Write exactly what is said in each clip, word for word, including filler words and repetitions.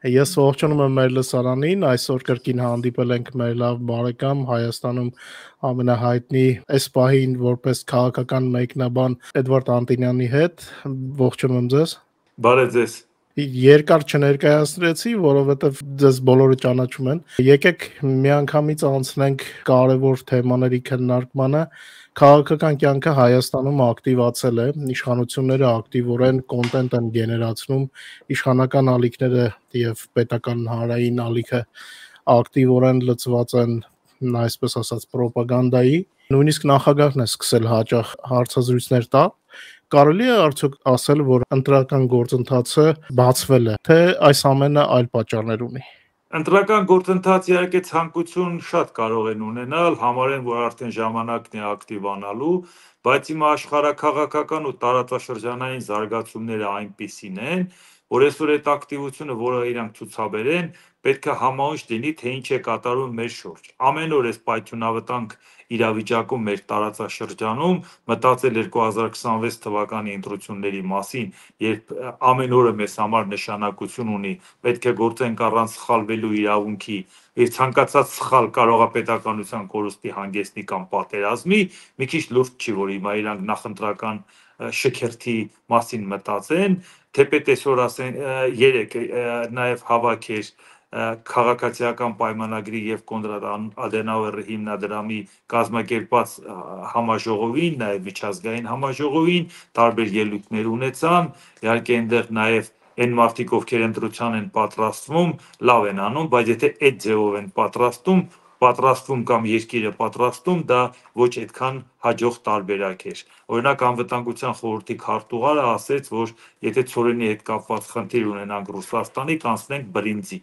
Ես ողջունում եմ մեր լսարանին, այսօր կրկին հանդիպել ենք մեր լավ բարեկամ Հայաստանում ամենահայտնի այս պահին որպես քաղաքական մեկնաբան Էդվարդ Անտոնյանի հետ, ողջունում եմ ձեզ։ Բարև ձեզ։ Երկար չներկայացրեցի, որովհետև ձեզ բոլորը ճանաչում են։ Եկեք միանգամից անցնենք կարևոր թեմաների քննարկմանը։ Քաղաքական կյանքը Հայաստանում ակտիվացել է, իշխանությունները ակտիվորեն կոնտենտ են գեներացնում, իշխանական ալիքները եւ պետական հանրային ալիքը ակտիվորեն լծված են, այսպես ասած, ռոպագանդայի։ Նույնիսկ նախագահն է սկսել հաճախ հարցազրույցներ տալ։ Կարելի է արդյոք ասել, որ ընտրական գործընթացը բացվել է, թե այս ամենը այլ պատճառներ ունի։ Ընտրական գործընթաց իհարկե ցանկություն շատ կարող են ունենալ, համարեն, որ արդեն ժամանակն է ակտիվանալու, բայց հիմա աշխարհաքաղաքական ու տարածաշրջանային զարգացումները այնպիսին են, որ այսօր այդ ակտիվությունը, որը իրանք ցուցաբերեն, պետք է համահունչ լինի, թե ինչ է կատարվում մեր շուրջ։ Ամեն օր այս պայթյունավտանգ իրավիճակում մեր տարածաշրջանում մտածել երկու հազար քսանվեց թվականի ընտրությունների մասին, երբ ամեն օրը մեզ համար նշանակություն ունի, պետք է գործենք առանց սխալվելու իրավունքի, եւ ցանկացած սխալ կարող է պետականության կորուստի հանգեցնի կամ պատերազմի, մի քիչ լուրջ չի, որ հիմա իրանք նախընտրական շքերթի մասին մտածեն, թեպետ այսօր ասեն երեք նաեւ հավաք էր քաղաքացիական պայմանագրի եւ Կոնրադ Ադենաուերի հիմնադրամի կազմակերպած համաժողովին, նաեւ միջազգային համաժողովին, տարբեր ելույթներ ունեցան, իհարկե այնտեղ նաեւ այն մարդիկ, ովքեր ընտրության են պատրաստվում, լավ են անում, բայց եթե այդ ձևով են պատրաստում, պատրաստվում կամ երկիրը պատրաստում, դա ոչ այդքան հաջող տարբերակ էր։ Օրինակ անվտանգության խորհրդի քարտուղարը ասեց, որ եթե ցորենի հետ կապված խնդիր ունենանք Ռուսաստանի, կանցնենք բրինձի։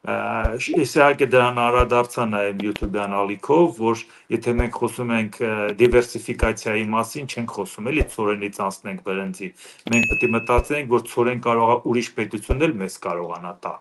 Ես իհարկե դրան անդրադարձա նաև YouTube-յան ալիքով, որ եթե մենք խոսում ենք դիվերսիֆիկացիայի մասին, չենք խոսում էլի ցորենից անցնենք բրինձի։ Մենք պետք է մտածենք, որ ցորեն կարող է ուրիշ պետություն էլ մեզ կարողանա տա։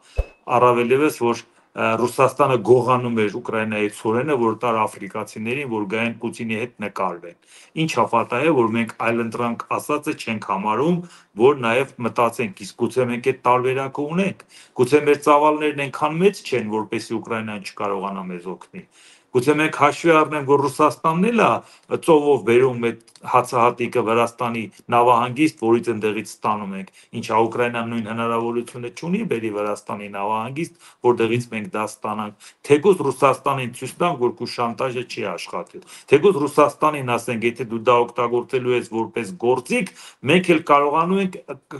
Առավել ևս, որ Ռուսաստանը գողանում էր Ուկրաինայի ցորենը, որ տար աֆրիկացիներին, որ գային Պուտինի հետ նկարվեն։ Ինչ հապատա է, որ մենք այլընտրանք ասածը չենք համարում, որ նաև մտածենք, իսկ գուցե մենք այդ տարբերակը ունենք, գուցե մեր ծավալներն այնքան մեծ չեն, որպեսզի Ուկրաինան չկարողանա մեզ օգնի։ Գուցե մենք հաշվի առնենք, որ Ռուսաստանն էլ է ծովով բերում այդ հացահատիկը Վրաստանի նավահանգիստ, որից ընդեղից ստանում ենք, ինչա Ուկրաինան նույն հնարավորությունը չունի բերի Վրաստանի նավահանգիստ, որտեղից մենք դա ստանանք։ Թեկուզ Ռուսաստանին ցույց տանք, որ քու շանտաժը չի աշխատել։ Թեկուզ Ռուսաստանին ասենք, եթե դու դա օգտագործելու ես որպես գործիք, մենք էլ կարողանում ենք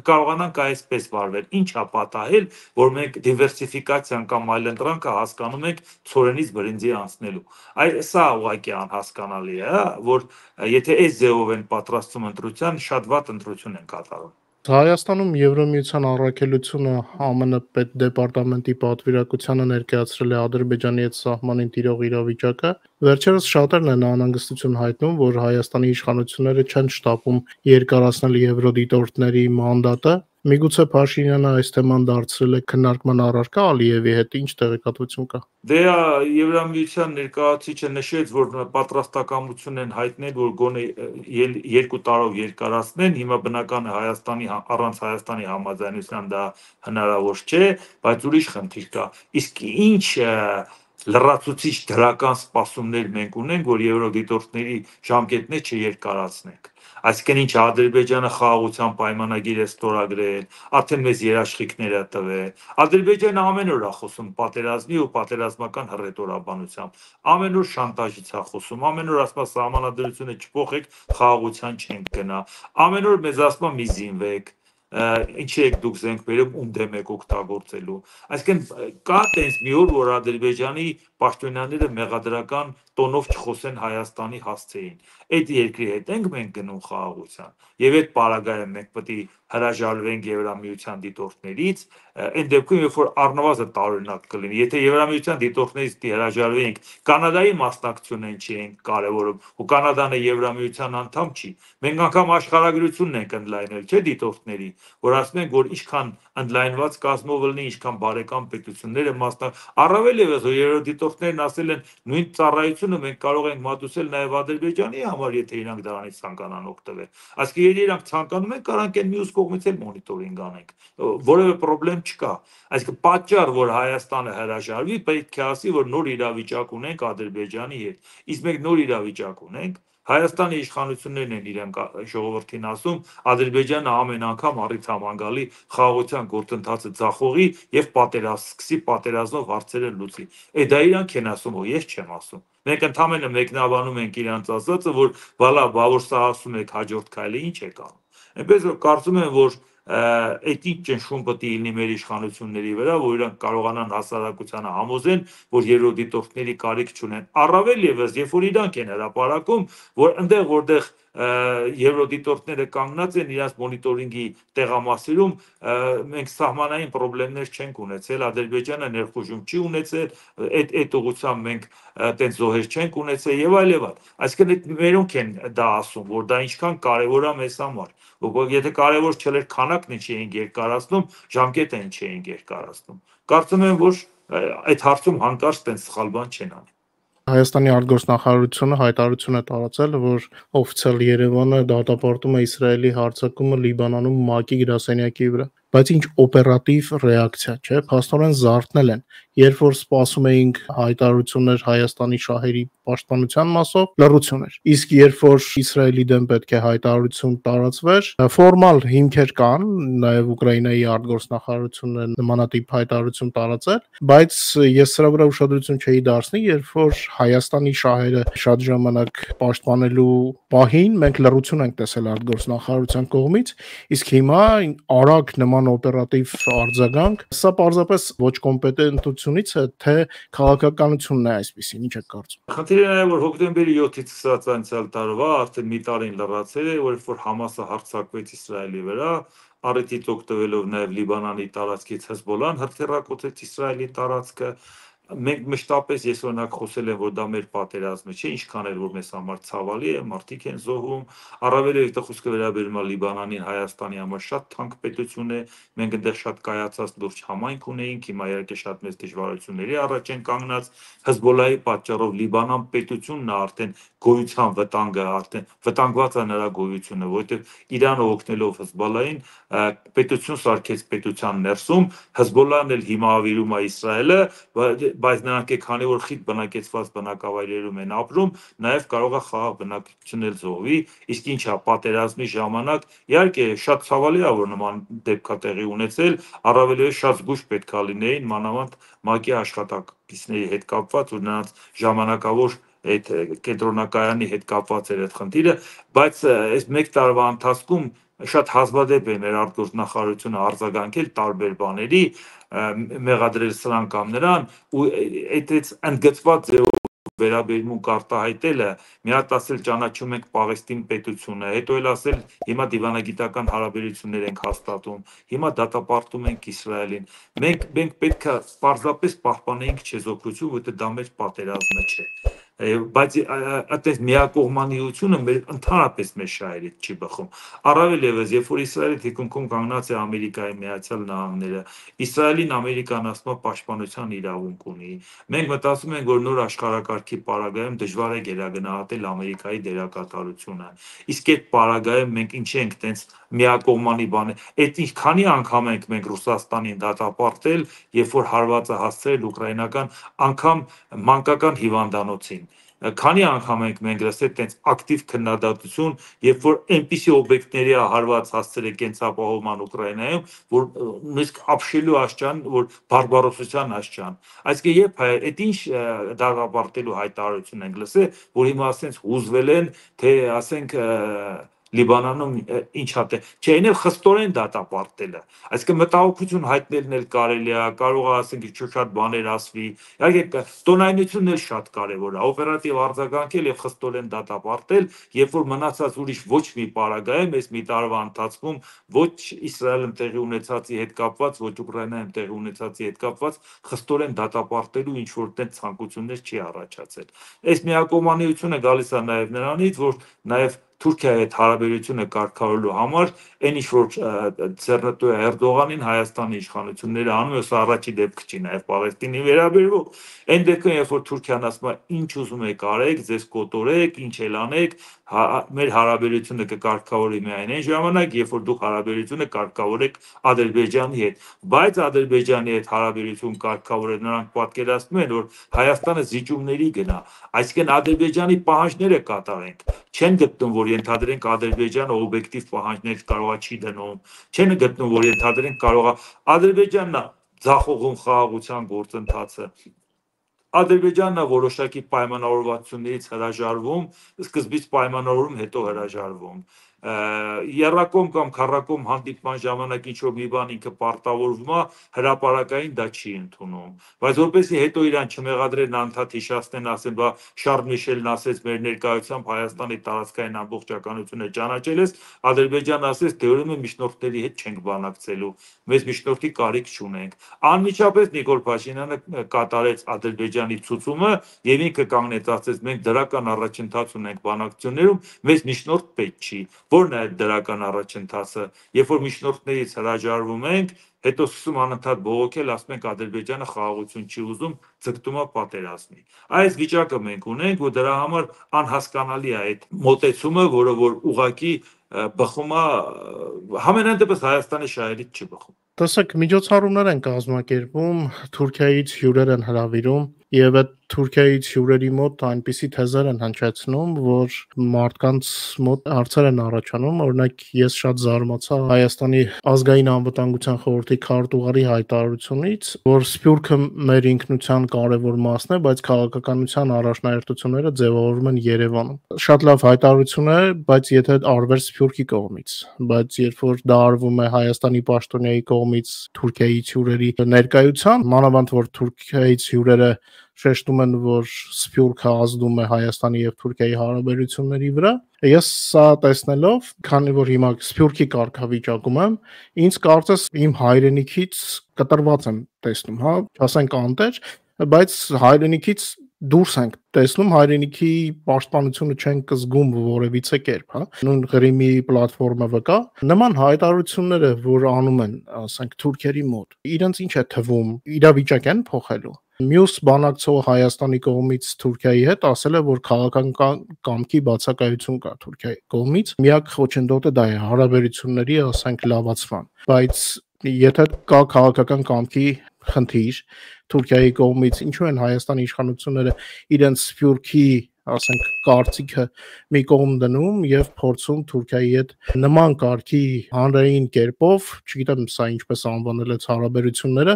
կարողանանք այսպես վարվել։ Ինչ է պատահել, որ մենք դիվերսիֆիկացիան կամ այլընտրանքը հասկանում ենք ցորենից բրինձի անցնելու։ Այ սա ուղղակի անհասկանալի է, որ եթե այս ձևով են պատրաստում ընտրության, շատ վատ ընտրություն են կատարում։ Հայաստանում Եվրամիության առաքելությունը ԱՄՆ պետդեպարտամենտի պատվիրակությանը ներկայացրել է Ադրբեջանի հետ սահմանին տիրող իրավիճակը։ Վերջերս շատերն են անհանգստություն հայտնում, որ Հայաստանի իշխանությունները չեն շտապում երկարացնել եվրոդիտորդների մանդատը։ Միգուցե Փաշինյանը այս թեման դարձրել է քննարկման առարկա Ալիևի հետ, ինչ տեղեկատվություն կա։ Դե Եվրամիության ներկայացուցիչը նշեց, որ պատրաստակամություն են հայտնել, որ գոնե երկու տարով երկարացնեն, հիմա բնական է Հայաստանի առանց Հայաստանի համաձայնության դա հնարավոր չէ, բայց ուրիշ խնդիր կա։ Իսկ ինչ լրացուցիչ դրական սպասումներ մենք ունենք, որ եվրոդիտորդների ժամկետներ չերկարացնենք։ Այսինքն ինչ Ադրբեջանը խաղաղության պայմանագիր է ստորագրել, արդեն մեզ երաշխիքները տվել։ Ադրբեջանը ամեն օր է խոսում պատերազմի ու պատերազմական հռետորաբանությամբ։ Ամեն օր շանտաժից է խոսում, ամեն օր ասում է սահմանադրությունը չփոխեք, խաղաղության չենք գնա։ Ամեն օր մեզ ասում է մի զինվեք, ինչի եք դուք զենք բերում, ում դեմ եք օգտագործելու։ Այսինքն կա տես մի օր, որ Ադրբեջանի պաշտոնյաները մեղադրական տոնով չխոսեն Հայաստանի հասցեին։ Այդ երկրի հետ ենք մենք գնում խաղաղության։ Եվ այդ պարագայում մենք պետք է հրաժարվենք Եվրամիության դիտորդներից, այն դեպքում, երբ որ առնվազն տարօրինակ կլինի, եթե Եվրամիության դիտորդներից հրաժարվենք, Կանադայի մասնակցությունն չի ենք կարևորում, ու Կանադան է Եվրամիության անդամ չի։ Մենք անգամ աշխարհագրությունն ենք ընդլայնել, չէ՞ դիտորդների, որ ասում ենք, որ ինչքան ընդլայնված կազմով լինի, ինչքան բարեկամ պետությունները մասնակ, առավել ևս երրորդիտորդներն ասել են նույն ծառայությունը մենք կարող ենք մատուցել նաև Ադրբեջանի համար, եթե իրանք դրանից ցանկանան օգտվել։ Այսինքն եթե իրանք ցանկանում են, կարանք են մյուս կողմից էլ մոնիտորինգ անենք, որևէ խնդրեմ չկա։ Այսինքն պատճառ, որ Հայաստանը հրաժարվի, պետք է ասի, որ նոր իրավիճակ ունենք Ադրբեջանի հետ։ Իսկ մենք նոր իրավիճակ ունենք, Հայաստանի իշխանություններն են իրենք ժողովրդին ասում, Ադրբեջանը ամեն անգամ առիթ համանգալի խաղաղության գործընթացը ձախողի եւ պատերազմ սկսի, պատերազմով հարցերը լուծի։ Է դա իրանք են ասում, որ ես չեմ ասում։ Մենք ընդհանրապես մեկնաբանում ենք իրանց ասածը, որ բալա, բա որ սա ասում եք հաջորդ քայլը ինչ եք անում։ Այնպես որ կարծում եմ, որ այդ ինչ ճնշում պետք է լինի մեր իշխանությունների վրա, որ իրանք կարողանան հասարակությանը համոզեն, որ երրորդիտորդների կարիք չունեն։ Առավել եւս, երբ որ իրանք են հրապարակում, որ այնտեղ որտեղ երրորդիտորդները կանգնած են իրաց մոնիտորինգի տեղամասերում, մենք սահմանային խնդիրներ չենք ունեցել, Ադրբեջանը ներխուժում չի ունեցել, այդ այդ ուղղությամբ մենք այդպես զոհեր չենք ունեցել եւ այլ եւ այլ։ Այսինքն մերոնք են դա ասում, որ դա ինչքան կարեւոր է մեզ համար։ Եթե կարևոր չէր քանակն ինչ էին երկարացնում, ժամկետը ինչ էին երկարացնում։ Կարծում եմ, որ այդ հարցում հանկարծ տենց սխալ բան չեն անի։ Հայաստանի արտգործնախարարությունը հայտարարություն է տարածել, որ օֆիցիալ Երևանը դատապարտում է Իսրայելի հարձակումը Լիբանանում ՄԱԿ-ի գրասենյակի վրա, բայց ինչ օպերատիվ ռեակցիա, չէ՞, փաստորեն զարթնել են, երբ որ սպասում էինք հայտարարություններ Հայաստանի շահերի պաշտպանության մասով, լռություն էր։ Իսկ երբ որ Իսրայելի դեմ պետք է հայտարարություն տարածվեր, ֆորմալ հիմքեր կան, նաև Ուկրաինայի արտգործնախարարությունը նմանատիպ հայտարարություն տարածել, բայց ես սրա վրա ուշադրություն չէի դարձնի, երբ որ Հայաստանի շահերը շատ ժամանակ պաշտպանելու պահին մենք լռություն ենք տեսել արտգործնախարարության կողմից, իսկ հիմա արագ նման օպերատիվ արձագանք, սա պարզապես ոչ կոմպետենտությունից է, թե քաղաքականությունն է այսպեսին, ինչ եք կարծում։ Խնդիրը նաև որ հոկտեմբերի յոթից սկսած անցյալ տարվա արդեն մի տարին լրացել է, որ որ Համասը հարձակվեց Իսրայելի վրա, առիթից օգտվելով նաև Լիբանանի տարածքից Հեզբոլլան հրթիռակոծեց Իսրայելի տարածքը։ Մենք մշտապես ես օրինակ խոսել եմ, որ դա մեր պատերազմը չէ, ինչքան էլ որ մեզ համար ցավալի է, մարդիկ են զոհվում, առավել եթե խոսքը վերաբերում է Լիբանանին, Հայաստանի համար շատ թանկ պետություն է, մենք այնտեղ շատ կայացած լուրջ համայնք ունեինք, հիմա իհարկե շատ մեծ դժվարությունների առաջ են կանգնած, Հեզբոլլայի պատճառով Լիբանան պետությունն է արդեն գոյության վտանգը, արդեն վտանգված է նրա գոյությունը, որովհետև Իրանը օգնելով Հեզբոլլային պետություն սարքեց պետության ներսում, Հեզբոլլան էլ հիմա ավիրում է Իսրայելը, բայց նրանք է քանի որ խիտ բնակեցված բնակավայրերում են ապրում, նաև կարող է խաղաղ բնակչություն էլ զոհվի, իսկ ինչ է պատերազմի ժամանակ, իհարկե շատ ցավալի է որ նման դեպք է տեղի ունեցել, առավելևս շատ զգույշ պետք է լինեին մանավանդ ՄԱԿ-ի աշխատակիցների հետ կապված, որ նրանց ժամանակավոր այդ կենտրոնակայանի հետ կապված էր այդ խնդիրը, բայց այս մեկ տարվա ընթացքում շատ հազվադեպ է մեր արտգործնախարարությունը արձագանքել տարբեր բաների, մեղադրել սրան կամ նրան, ու այդից ընդգծված ձևով վերաբերմունք արտահայտելը, մի հատ ասել ճանաչում ենք Պաղեստին պետությունը, հետո էլ ասել հիմա դիվանագիտական հարաբերություններ ենք հաստատում, հիմա դատապարտում ենք Իսրայելին։ Մենք մենք պետք է պարզապես պահպանեինք չեզոքրություն, որովհետև դա մեր պատերազմը չէ։ Բայց այդպես միակողմանիությունը մեր ընդհանրապես մեր շահերից չի բխում։ Առավել եւս, երբ որ Իսրայելի թիկունքում կանգնած է Ամերիկայի Միացյալ Նահանգները, Իսրայելին Ամերիկան ասում է պաշտպանության իրավունք ունի։ Մենք մտածում ենք, որ նոր աշխարհակարգի պարագայում դժվար է գերագնահատել Ամերիկայի դերակատարությունը։ Իսկ այդ պարագայում մենք ինչ ենք տենց միակողմանի բան։ Այդ ինչ քանի անգամ ենք մենք Ռուսաստանին դատապարտել, երբ որ հարվածը հասցրել ուկրաինական անգամ մանկական հիվանդանոցին։ Քանի անգամ ենք մենք լսել տենց ակտիվ քննադատություն, երբ որ այնպիսի օբյեկտների է հարված հասցրել կենսապահովման Ուկրաինայում, որ նույնիսկ ապշելու աշճան, որ բարբարոսության աշճան։ Այսինքն երբ այդ ինչ դատապարտելու հայտարարություն ենք լսել, որ հիմա ասենց հուզվել են, թե ասենք Լիբանանում ինչա թե չէ, այն էլ խստորեն դատապարտելը։ Այսինքն մտահոգություն հայտնելն էլ կարելի է, կարող է ասենք շատ բաներ ասվի։ Իհարկե տոնայնությունն էլ շատ կարևոր է, օպերատիվ արձագանքել եւ խստորեն դատապարտել, երբ որ մնացած ուրիշ ոչ մի պարագայում, այս մի տարվա ընթացքում ոչ Իսրայելում տեղի ունեցածի հետ կապված, ոչ Ուկրաինայում տեղի ունեցածի հետ կապված խստորեն դատապարտելու ինչ որ տեղ ցանկություններ չի առաջացել։ Այս միակողմանիությունը գալիս է նաեւ նրանից, որ նաեւ Թուրքիայի հետ հարաբերությունը կարգավորելու համար այն ինչ որ ձեռնտու է Էրդողանին Հայաստանի իշխանությունները անում է, սա առաջի դեպքը չի նաև Պաղեստինի վերաբերվող, այն դեպքում երբ որ Թուրքիան ասում է ինչ ուզում եք արեք, ձեզ կոտորեք, ինչ էլ անեք, մեր հարաբերությունը կկարգավորի միայն այն ժամանակ, երբ որ դուք հարաբերությունը կարգավորեք Ադրբեջանի հետ, բայց Ադրբեջանի հետ հարաբերություն կարգավորել նրանք պատկերացնում են, որ Հայաստանը զիջումների գնա, այսինքն Ադրբեջանի պահանջները կատարենք, չեն գտնում, որ ենթադրենք Ադրբեջանը օբյեկտիվ պահանջներ կարողա չի դնում, չեն գտնում, որ ենթադրենք կարողա Ադրբեջանն է ձախողում խաղաղության գործընթացը, Ադրբեջանն է որոշակի պայմանավորվածություններից հրաժարվում, սկզբից պայմանավորում, հետո հրաժարվում, եռակողմ կամ քառակողմ հանդիպման ժամանակ ինչ որ մի բան ինքը պարտավորվում է, հրապարակային դա չի ընդունում, բայց որպեսզի հետո իրան չմեղադրեն անդադ հիշացնեն, ասեն, բա Շարլ Միշելն ասեց մեր ներկայությամբ Հայաստանի տարածքային ամբողջականությունը ճանաչել ես, Ադրբեջանը ասեց, դե ուրեմն միջնորդների հետ չենք բանակցելու, մեզ միջնորդի կարիք չունենք, անմիջապես Նիկոլ Փաշինյանը կատարեց Ադրբեջանի ցուցումը եւ ինքը կանգնեց, ասեց, մենք դրական առաջընթաց ունենք բանակցություններում, մեզ միջնորդ պետք չի, որն է այդ դրական առաջընթացը, երբ որ միջնորդներից հրաժարվում ենք, հետո սկսում անընդհատ բողոքել, ասում ենք Ադրբեջանը խաղաղություն չի ուզում, ձգտում է պատերազմի։ Այս վիճակը մենք ունենք, ու դրա համար անհասկանալի է այդ մոտեցումը, որը որ ուղղակի բխում է, համենայն դեպս Հայաստանի շահերից չի բխում։ Տեսեք, միջոցառումներ են կազմակերպում, Թուրքիայից հյուրեր են հրավիրում եւ այդ Թուրքիայից հյուրերի մոտ այնպիսի թեզեր են հնչեցնում, որ մարդկանց մոտ հարցեր են առաջանում, օրինակ ես շատ զարմացա Հայաստանի ազգային անվտանգության խորհրդի քարտուղարի հայտարարությունից, որ Սփյուռքը մեր ինքնության կարևոր մասն է, բայց քաղաքականության առաջնահերթությունները ձևավորվում են Երևանում։ Շատ լավ հայտարարություն է, բայց եթե արվեր Սփյուռքի կողմից, բայց երբ որ դա արվում է Հայաստանի պաշտոնյայի կողմից Թուրքիայից հյուրերի ներկայությամբ, մանավանդ որ Թուրքիայից հյուրերը շեշտում են, որ Սփյուռքը ազդում է Հայաստանի եւ Թուրքիայի հարաբերությունների վրա, ես սա տեսնելով, քանի որ հիմա Սփյուռքի կարգավիճակում եմ, ինձ կարծես իմ հայրենիքից կտրված եմ տեսնում, հա, ասենք անտեր, բայց հայրենիքից դուրս ենք տեսնում, հայրենիքի պաշտպանությունը չենք զգում որևիցե կերպ, հա։ Նույն Ղրիմի պլատֆորմը վկա, նման հայտարարությունները, որ անում են, ասենք Թուրքերի մոտ, իրենց ինչ է թվում, իրավիճակ են փոխելու։ Մյուս բանակցող Հայաստանի կողմից Թուրքիայի հետ ասել է, որ քաղաքական կամքի բացակայություն կա Թուրքիայի կողմից։ Միակ խոչընդոտը դա է հարաբերությունների, ասենք, լավացման։ Բայց եթե կա քաղաքական կամքի խնդիր Թուրքիայի կողմից, ինչու են Հայաստանի իշխանությունները իրենց Սփյուռքի, ասենք, կարծիքը մի կողմ դնում եւ փորձում Թուրքիայի հետ նման կարգի հանրային կերպով, չգիտեմ սա ինչպես անվանել այդ հարաբերությունները,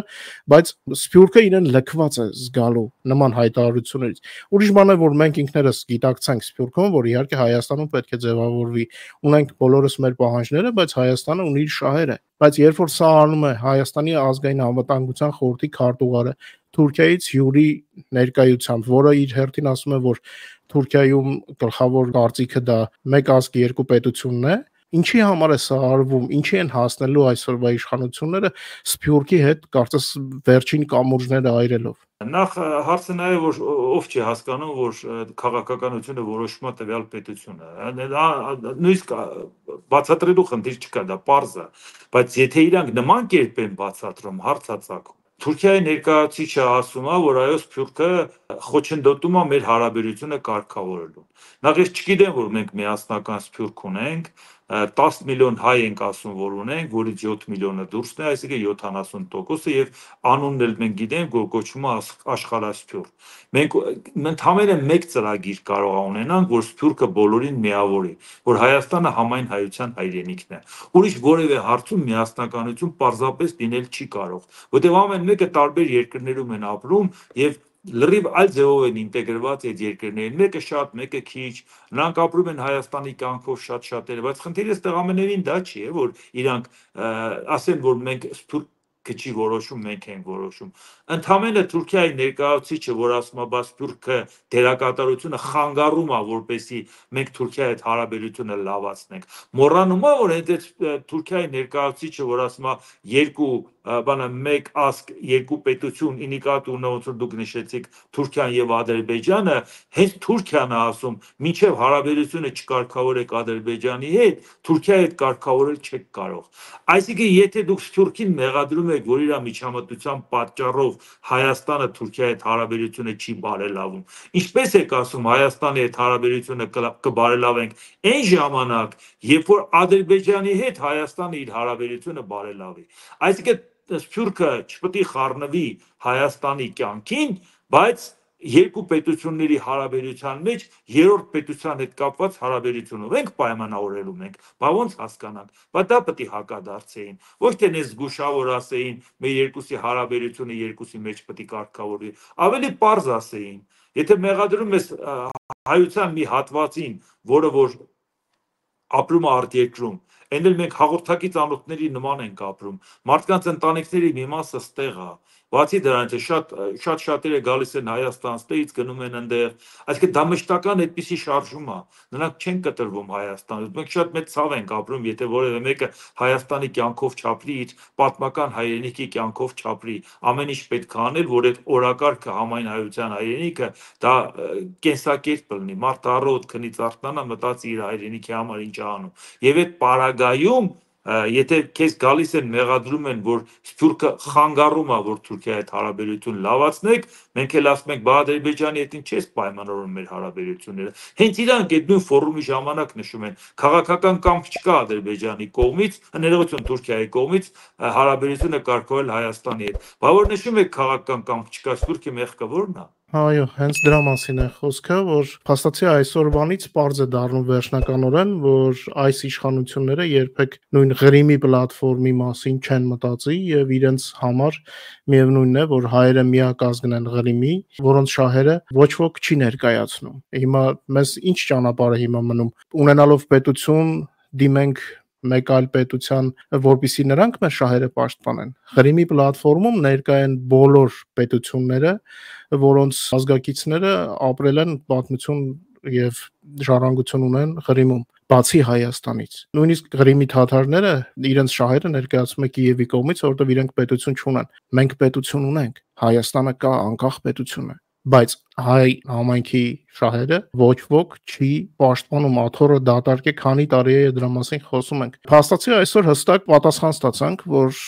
բայց Սփյուռքը իրեն լքված է զգալու նման հայտարարություններից։ Ուրիշ բան է, որ մենք ինքներս գիտակցենք Սփյուռքում, որ իհարկե Հայաստանում պետք է ձևավորվի, ունենք բոլորս մեր պահանջները, բայց Հայաստանը ունի իր շահերը։ Բայց երբ որ սա անում է Հայաստանի ազգային անվտանգության խորհրդի քարտուղարը Թուրքիայից հյուրի ներկայությամբ, որը իր հերթին ասում է, որ Թուրքիայում գլխավոր կարծիքը դա մեկ ազգ երկու պետությունն է, ինչի համար է սա արվում, ինչի են հասնելու այսօրվա իշխանությունները Սփյուռքի հետ կարծես վերջին կամուրջները այրելով։ Նախ հարցը նա է, որ ով չի հասկանում, որ քաղաքականությունը որոշում է տվյալ պետությունը։ Նույնիսկ բացատրելու խնդիր չկա, դա պարզ է, բայց եթե իրանք նման կերպ են բացատրում, հարց է ծագում։ Թուրքիայի ներկայացուցիչը ասում է, որ այո Սփյուռքը խոչընդոտում է մեր հարաբերությունը կարգավորելու։ Նախ ես չգիտեմ, որ մենք միասնական Սփյուռք ունենք, տասը միլիոն հայ ենք ասում, որ ունենք, որից յոթ միլիոնը դուրսն է, այսինքն յոթանասուն տոկոսը եւ անունն էլ մենք գիտենք, որ կոչվում է Աշխարհասփյուռ։ Մենք ընդհանրապես մեկ ծրագիր կարող ունենանք, որ Սփյուռքը բոլորին միավորի, որ Հայաստանը համայն հայության հայրենիքն է։ Ուրիշ որևէ հարցում միասնականություն պարզապես լինել չի կարող, որտեղ ամեն մեկը տարբեր երկրներում են ապրում եւ լրիվ այլ ձևով են ինտեգրված այդ երկրներին, մեկը շատ, մեկը քիչ, նրանք ապրում են Հայաստանի կյանքով շատ-շատերը, բայց խնդիրը այստեղ ամենևին դա չի, է, որ իրանք ասեն, որ մենք Սփյուռք քչի որոշում մենք ենք որոշում։ Ընդամենը Թուրքիայի ներկայացուցիչը, որ ասում է, բաց Թուրքը դերակատարությունը խանգարում է, որպեսզի մենք Թուրքիայի հետ հարաբերությունը լավացնենք։ Մոռանում է, որ այդ Թուրքիայի ներկայացուցիչը, որ ասում է երկու բանը մեկ ասկ, երկու պետություն, ի նկատի ունենալով ոնց որ դուք նշեցիք Թուրքիան եւ Ադրբեջանը, հենց Թուրքիան է ասում, մինչեւ հարաբերությունը չկարգավորեք Ադրբեջանի հետ, Թուրքիայի հետ կարգավորել չեք կարող։ Այսինքն, եթե դուք Թուրքին մեղադրում եք, որ իր միջամտության պատճառով Հայաստանը Թուրքիայի հետ հարաբերությունը չի բարելավում, ինչպես եք ասում Հայաստանի հետ հարաբերությունը կբարելավենք այն ժամանակ, երբ որ Ադրբեջանի հետ Հայաստանը իր հարաբերությունը բարելավի։ Այսինքն Սփյուռքը չպետք է խառնվի Հայաստանի կյանքին, բայց երկու պետությունների հարաբերության մեջ երրորդ պետության հետ կապված հարաբերությունով ենք պայմանավորելու մենք, բա ոնց հասկանանք, բա դա պետք է հակադարձեին, ոչ թե նես զգուշավոր ասեին, մեր երկուսի հարաբերությունը երկուսի մեջ պետք է կարգավորվի, ավելի պարզ ասեին, եթե մեղադրում ես հայության մի հատվածին, որը որ ապրում է արտերկրում, այն էլ մենք հաղորդակից անոթների նման ենք ապրում, մարդկանց ընտանիքների մի մասը ստեղ է, բացի դրանից շատ շատ շատերը գալիս են Հայաստան, ստեղից գնում են այնտեղ, այսինքն դա մշտական այդպիսի շարժում է, նրանք չեն կտրվում Հայաստանից, մենք շատ մեծ ցավ ենք ապրում, եթե որևէ մեկը Հայաստանի կյանքով չապրի, իր պատմական հայրենիքի կյանքով չապրի, ամեն ինչ պետք է անել, որ այդ օրակարգը համայն հայության հայրենիքը դա կենսակերպ լինի, մարդ առօտ քնից արթնանա, մտածի իր հայրենիքի համար ինչ անում, եւ այդ պարագայում եթե քեզ գալիս են մեղադրում են, որ Սփյուռքը խանգարում է, որ Թուրքիայի հետ հարաբերություն լավացնեք, մենք էլ ասում ենք, բա Ադրբեջանի հետ ինչ ես պայմանավորում մեր հարաբերությունները։ Հենց իրանք այդ նույն ֆորումի ժամանակ նշում են, քաղաքական կամք չկա Ադրբեջանի կողմից, ներողություն Թուրքիայի կողմից հարաբերությունը կարգավորել Հայաստանի հետ։ Բա որ նշում եք քաղաքական կամք չկա, Սփյուռքի մեղքը ո՞րն է։ Այո, հենց դրա մասին է խոսքը, որ փաստացի այսօրվանից պարզ է դառնում վերջնականորեն, որ այս իշխանությունները երբեք նույն Ղրիմի պլատֆորմի մասին չեն մտածի եւ իրենց համար միևնույնն է, որ հայերը միակ ազգն են Ղրիմի, որոնց շահերը ոչ ոք չի ներկայացնում։ Հիմա մեզ ինչ ճանապարհ է հիմա մնում, ունենալով պետություն դիմենք մեկ այլ պետության, որպեսզի նրանք մեր շահերը պաշտպանեն։ Ղրիմի պլատֆորմում ներկա են բոլոր պետությունները, որոնց ազգակիցները ապրել են պատմություն եւ ժառանգություն ունեն Ղրիմում, բացի Հայաստանից։ Նույնիսկ Ղրիմի թաթարները իրենց շահերը ներկայացնում են Կիևի կողմից, որովհետեւ իրենք պետություն չունեն։ Մենք պետություն ունենք, Հայաստանը կա անկախ պետություն է, բայց հայ համայնքի շահերը ոչ ոք չի պաշտպանում, աթոռը դատարկ է, քանի տարի է դրա մասին խոսում ենք։ Փաստացի այսօր հստակ պատասխան ստացանք, որ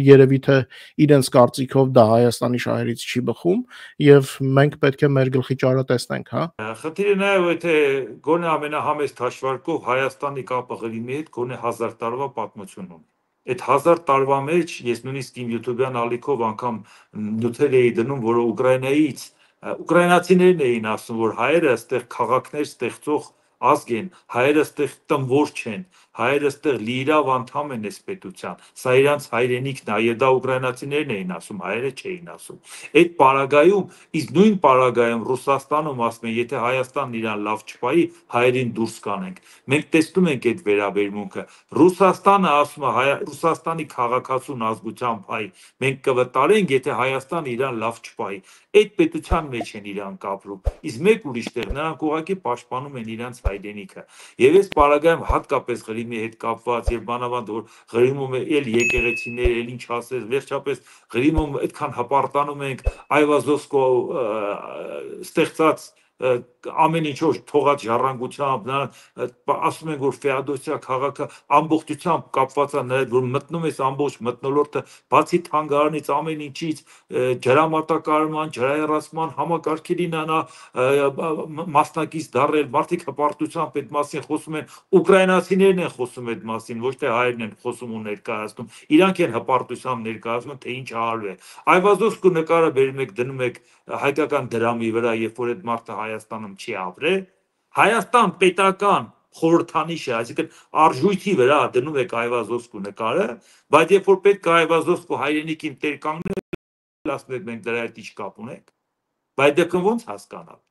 երևի թե իրենց կարծիքով դա Հայաստանի շահերից չի բխում եւ մենք պետք է մեր գլխի ճարը տեսնենք, հա։ Խնդիրը նաեւ եթե գոնե ամենահամեստ հաշվարկով Հայաստանի կապը Ղրիմի հետ գոնե հազար տարվա պատմություն ունի։ Այդ հազար տարվա մեջ ես նույնիսկ իմ յութուբյան ալիքով անգամ նյութեր էի դնում, որ Ուկրաինայից ուկրաինացիներն էին ասում, որ հայերը այստեղ քաղաքներ ստեղծող ազգ են, հայերը այստեղ տնվոր չեն, հայերը այստեղ լիիրավ անդամ են այս պետության, սա իրանց հայրենիքն է, եւ դա ուկրաինացիներն էին ասում, հայերը չէին ասում։ Այդ պարագայում, իսկ նույն պարագայում Ռուսաստանում ասում են, եթե Հայաստանն իրան լավ չպայի, հայերին դուրս կանենք։ Մենք տեսնում ենք այդ վերաբերմունքը։ Ռուսաստանը ասում է, Ռուսաստանի քաղաքացուն ազգությամբ հայ, մենք կվտարենք, եթե Հայաստանը իրան լավ չպայի։ Այդ պետության մեջ են իրանք ապրում, իսկ մեկ ուրիշ տեղ նրանք ուղղակի պաշտպանում են իրանց հայրենիքը։ Եվ այս պարագայում հատկապես Ղրիմի հետ կապված եւ բանավանդ որ Ղրիմում էլ եկեղեցիներ, էլ ինչ ասես, վերջապես Ղրիմում այդքան հպարտանում ենք Այվազովսկո ստեղծած ամեն ինչով թողած ժառանգությամբ, նա ասում են, որ Ֆեոդոսիա քաղաքը ամբողջությամբ կապված է նրա հետ, որ մտնում ես ամբողջ մթնոլորտը, բացի թանգարանից ամեն ինչից, ջրամատակարարման, ջրահեռացման համակարգերին նա մասնակից դառել, մարդիկ հպարտությամբ այդ մասին խոսում են, ուկրաինացիներն են խոսում այդ մասին, ոչ թե հայերն են խոսում ու ներկայացնում, իրանք են հպարտությամբ ներկայացնում, թե ինչ արվել է։ Այվազովսկու նկարը բերում եք, դնում եք հայկական դրամի վրա, երբ որ այդ մարդը Հայաստանում չի ապրել, Հայաստան պետական խորհրդանիշ է, այսինքն արժույթի վրա դնում եք Այվազովսկու նկարը, բայց երբ որ պետք է Այվազովսկու հայրենիքին տեր կանգնել, ասում եք մենք դրա հետ ինչ կապ ունենք, բայց դեպքում ոնց հասկանալ։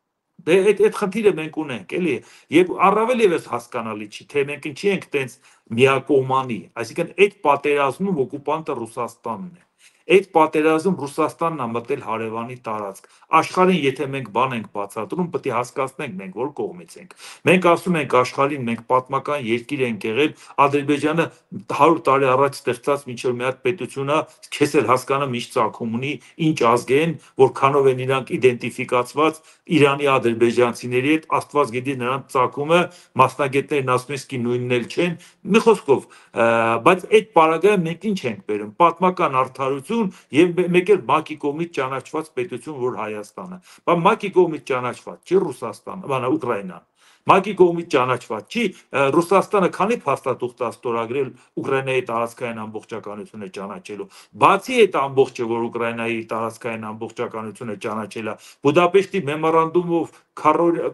Դե այդ այդ խնդիրը մենք ունենք, էլի, եւ առավել եւս հասկանալի չի, թե մենք ինչի ենք տենց միակողմանի, այսինքն այդ պատերազմում օկուպանտը Ռուսաստանն է։ Այդ պատերազմ Ռուսաստանն է մտել հարևանի տարածք։ Աշխարհին եթե մենք բան ենք բացատրում, պետք է հասկացնենք մենք որ կողմից ենք։ Մենք ասում ենք աշխարհին մենք պատմական երկիր ենք եղել, Ադրբեջանը հարյուր տարի առաջ ստեղծած միջև մի հատ պետություն է, քեզ էլ հասկանում ինչ ծագում ունի, ինչ ազգ են, որքանով են իրանք իդենտիֆիկացված Իրանի ադրբեջանցիների հետ, Աստված գիտի նրանց ծագումը, մասնագետներն ասում են սկի նույնն էլ չեն, մի խոսքով, բայց այդ պարագայում մենք ինչ ենք բերում, պատմական արդարություն եւ մեկ էլ ՄԱԿ-ի կողմից ճանաչված պետություն, որ Հայաստանը, բայց ՄԱԿ-ի կողմից ճանաչված չի Ռուսաստանը, բանա Ուկրաինան։ ՄԱԿ-ի կողմից ճանաչված չի, Ռուսաստանը քանի փաստաթուղթ է ստորագրել Ուկրաինայի տարածքային ամբողջականությունը ճանաչելու։ Բացի այդ ամբողջը, որ Ուկրաինայի տարածքային ամբողջականությունը ճանաչել է, Բուդապեշտի մեմորանդումով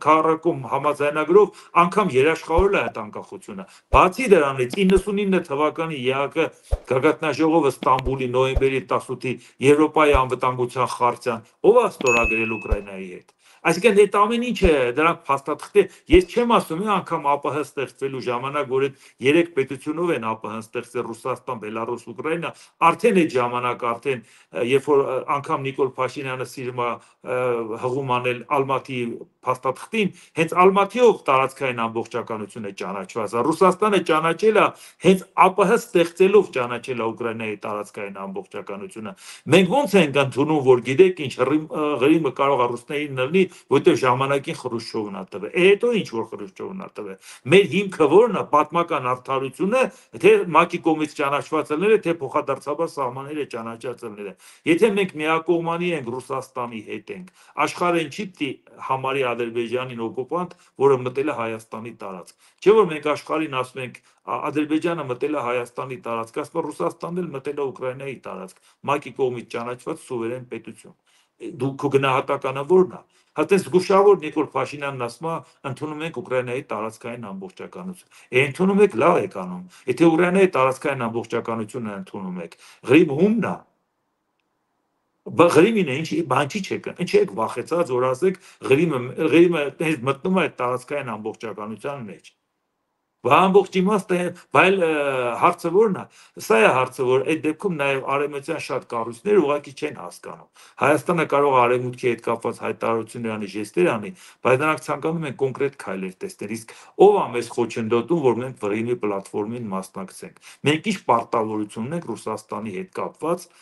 քառակում համաձայնագրով անգամ երաշխավորել է այդ անկախությունը։ Բացի դրանից իննսունինը թվականի ԵԱԿ գագաթնաժողովը Ստամբուլի նոյեմբերի տասութի Եվրոպայի անվտանգության խարտիան ով է ստորագրել Ուկրաինայի հետ։ Այսինքն այդ ամեն ինչը դրանք փաստաթղթի, ես չեմ ասում անգամ ԱՊՀ ստեղծվելու ժամանակ, որ այդ երեք պետությունով են ԱՊՀ ստեղծել Ռուսաստան, Բելարուս, Ուկրաինա, արդեն այդ ժամանակ արդեն երբ որ անգամ Նիկոլ Փաշինյանը սիրում է հղում անել Ալմատի փաստաթղթին, հենց Ալմատիով տարածքային ամբողջականություն է ճանաչված։ Ռուսաստանը ճանաչել է հենց ԱՊՀ ստեղծելով ճանաչել է Ուկրաինայի տարածքային ամբողջականությունը։ Մենք ո՞նց ենք ընդունում, որ գիտեք ինչ Ղրիմը կարող է ռուսներին նռնի, որտեղ ժամանակին Խրուշչովն է տվել։ Է հետո ինչ որ Խրուշչովն է տվել։ Մեր հիմքը ո՞րն է, պատմական արդարությունը, թե ՄԱԿ-ի կողմից ճանաչված ելները, թե փոխադարձաբար սահմանները ճանաչած ելները։ Եթե մենք միակողմանի ենք Ռուսաստանի հետ ենք, աշխարհին չի պիտի համարի Ադրբեջանին օկուպանտ, որը մտել է Հայաստանի տարածք։ Չէ՞ որ մենք աշխարհին ասում ենք Ադրբեջանը մտել է Հայաստանի տարածք, ասում Ռուսաստանն էլ մտել է Ուկրաինայի տարածք, ՄԱԿ-ի կողմից ճանաչված սուվերեն պետություն։ Դու քո գնահատականը ո՞րն է։ Հատե զգուշավոր Նիկոլ Փաշինյանն ասում է, ընդունում ենք Ուկրաինայի տարածքային ամբողջականություն։ Է ընդունում եք, լավ եք անում։ Եթե Ուկրաինայի տարածքային ամբողջականությունը ընդունում եք, Ղրիմը ումն է։ Ղրիմին է, ինչ բան չի չեք, ինչ եք վախեցած, որ ասեք Ղրիմը Ղրիմը մտնում է այդ տարածքային ամբողջականության մեջ։ Բա ամբողջ իմաստը, բայց հարցը ո՞րն է։ Սա է հարցը, որ այդ դեպքում նաև արևմտյան շատ կառույցներ ուղղակի չեն հասկանում։ Հայաստանը կարող է արևմուտքի հետ կապված հայտարարություններ անի, ժեստեր անի, բայց նրանք ցանկանում են կոնկրետ քայլեր տեսնել։ Իսկ ով է մեզ խոչընդոտում, որ մենք Ղրիմի պլատֆորմին մասնակցենք։ Մենք ինչ պարտավորություն ունենք Ռուսաստանի հետ կապված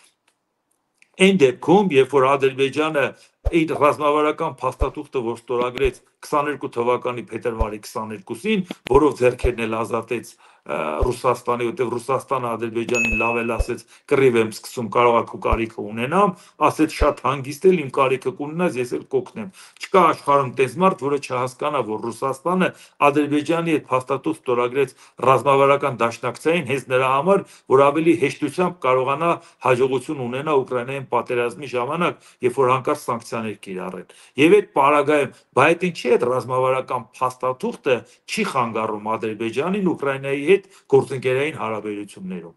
այն դեպքում, երբ որ Ադրբեջանը այդ ռազմավարական փաստաթուղթը, որ ստորագրեց քսաներկու թվականի փետրվարի քսաներկուսին, որով ձեռքերն էլ ազատեց Ռուսաստանի, որտեղ Ռուսաստանը Ադրբեջանին լավ էլ ասեց, կռիվ եմ սկսում, կարող է քո կարիքը ունենամ, ասեց շատ հանգիստ էլ իմ կարիքը կունենաս, ես էլ կօգնեմ։ Չկա աշխարհում տես մարդ, որը չհասկանա, որ Ռուսաստանը Ադրբեջանի հետ փաստաթուղթ ստորագրեց ռազմավարական դաշնակցային հենց նրա համար, որ ավելի հեշտությամբ կարողանա հաջողություն ունենա Ուկրաինային պատերազմի ժամանակ, երբ որ հանկարծ սանկցիաներ կիրառեն։ Եվ այդ պարագայում, բայց ինչի այդ ռազմավարական փաստաթուղթը չի խանգարում Ադրբեջանին Ուկրաինայի հետ գործընկերային հարաբերություններում։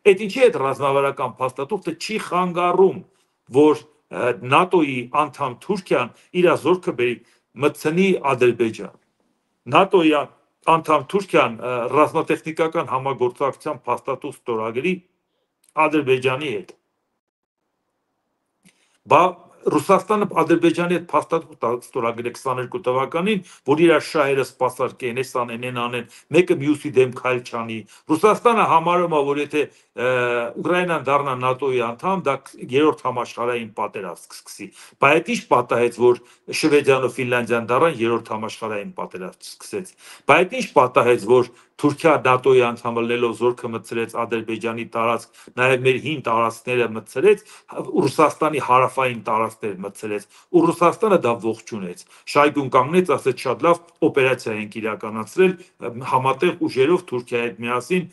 Այդ ինչի այդ ռազմավարական փաստաթուղթը չի խանգարում, որ ՆԱՏՕ-ի անդամ Թուրքիան իր զորքը բերի մտցնի Ադրբեջան։ ՆԱՏՕ-ի անդամ Թուրքիան ռազմատեխնիկական համագործակցության փաստաթուղթ ստորագրի Ադրբեջանի հետ։ Բա Ռուսաստանը Ադրբեջանի հետ փաստաթուղթ ստորագրել քսաներկու թվականին, որ իր շահերը սպասարկեն, էս անեն, են անեն, մեկը մյուսի դեմ քայլ չանի։ Ռուսաստանը համարում է, որ եթե Ուկրաինան դառնա ՆԱՏՕ-ի անդամ, դա երրորդ համաշխարհային պատերազմ կսկսի։ Բայց այդ ինչ պատահեց, որ Շվեդիան ու Ֆինլանդիան դառան երրորդ համաշխարհային պատերազմ սկսեց։ Բայց ինչ պատահեց, որ Թուրքիա ՆԱՏՕ-ի անդամ ելնելով զորքը մտցրեց Ադրբեջանի տարածք, նաև մեր հին տարածքները մտցրեց, Ռուսաստանի հարավային տարածքներ մտցրեց, ու Ռուսաստանը դա ողջունեց։ Շայգուն կանգնեց, ասեց շատ լավ, օպերացիա ենք իրականացրել համատեղ ուժերով Թուրքիայի հետ միասին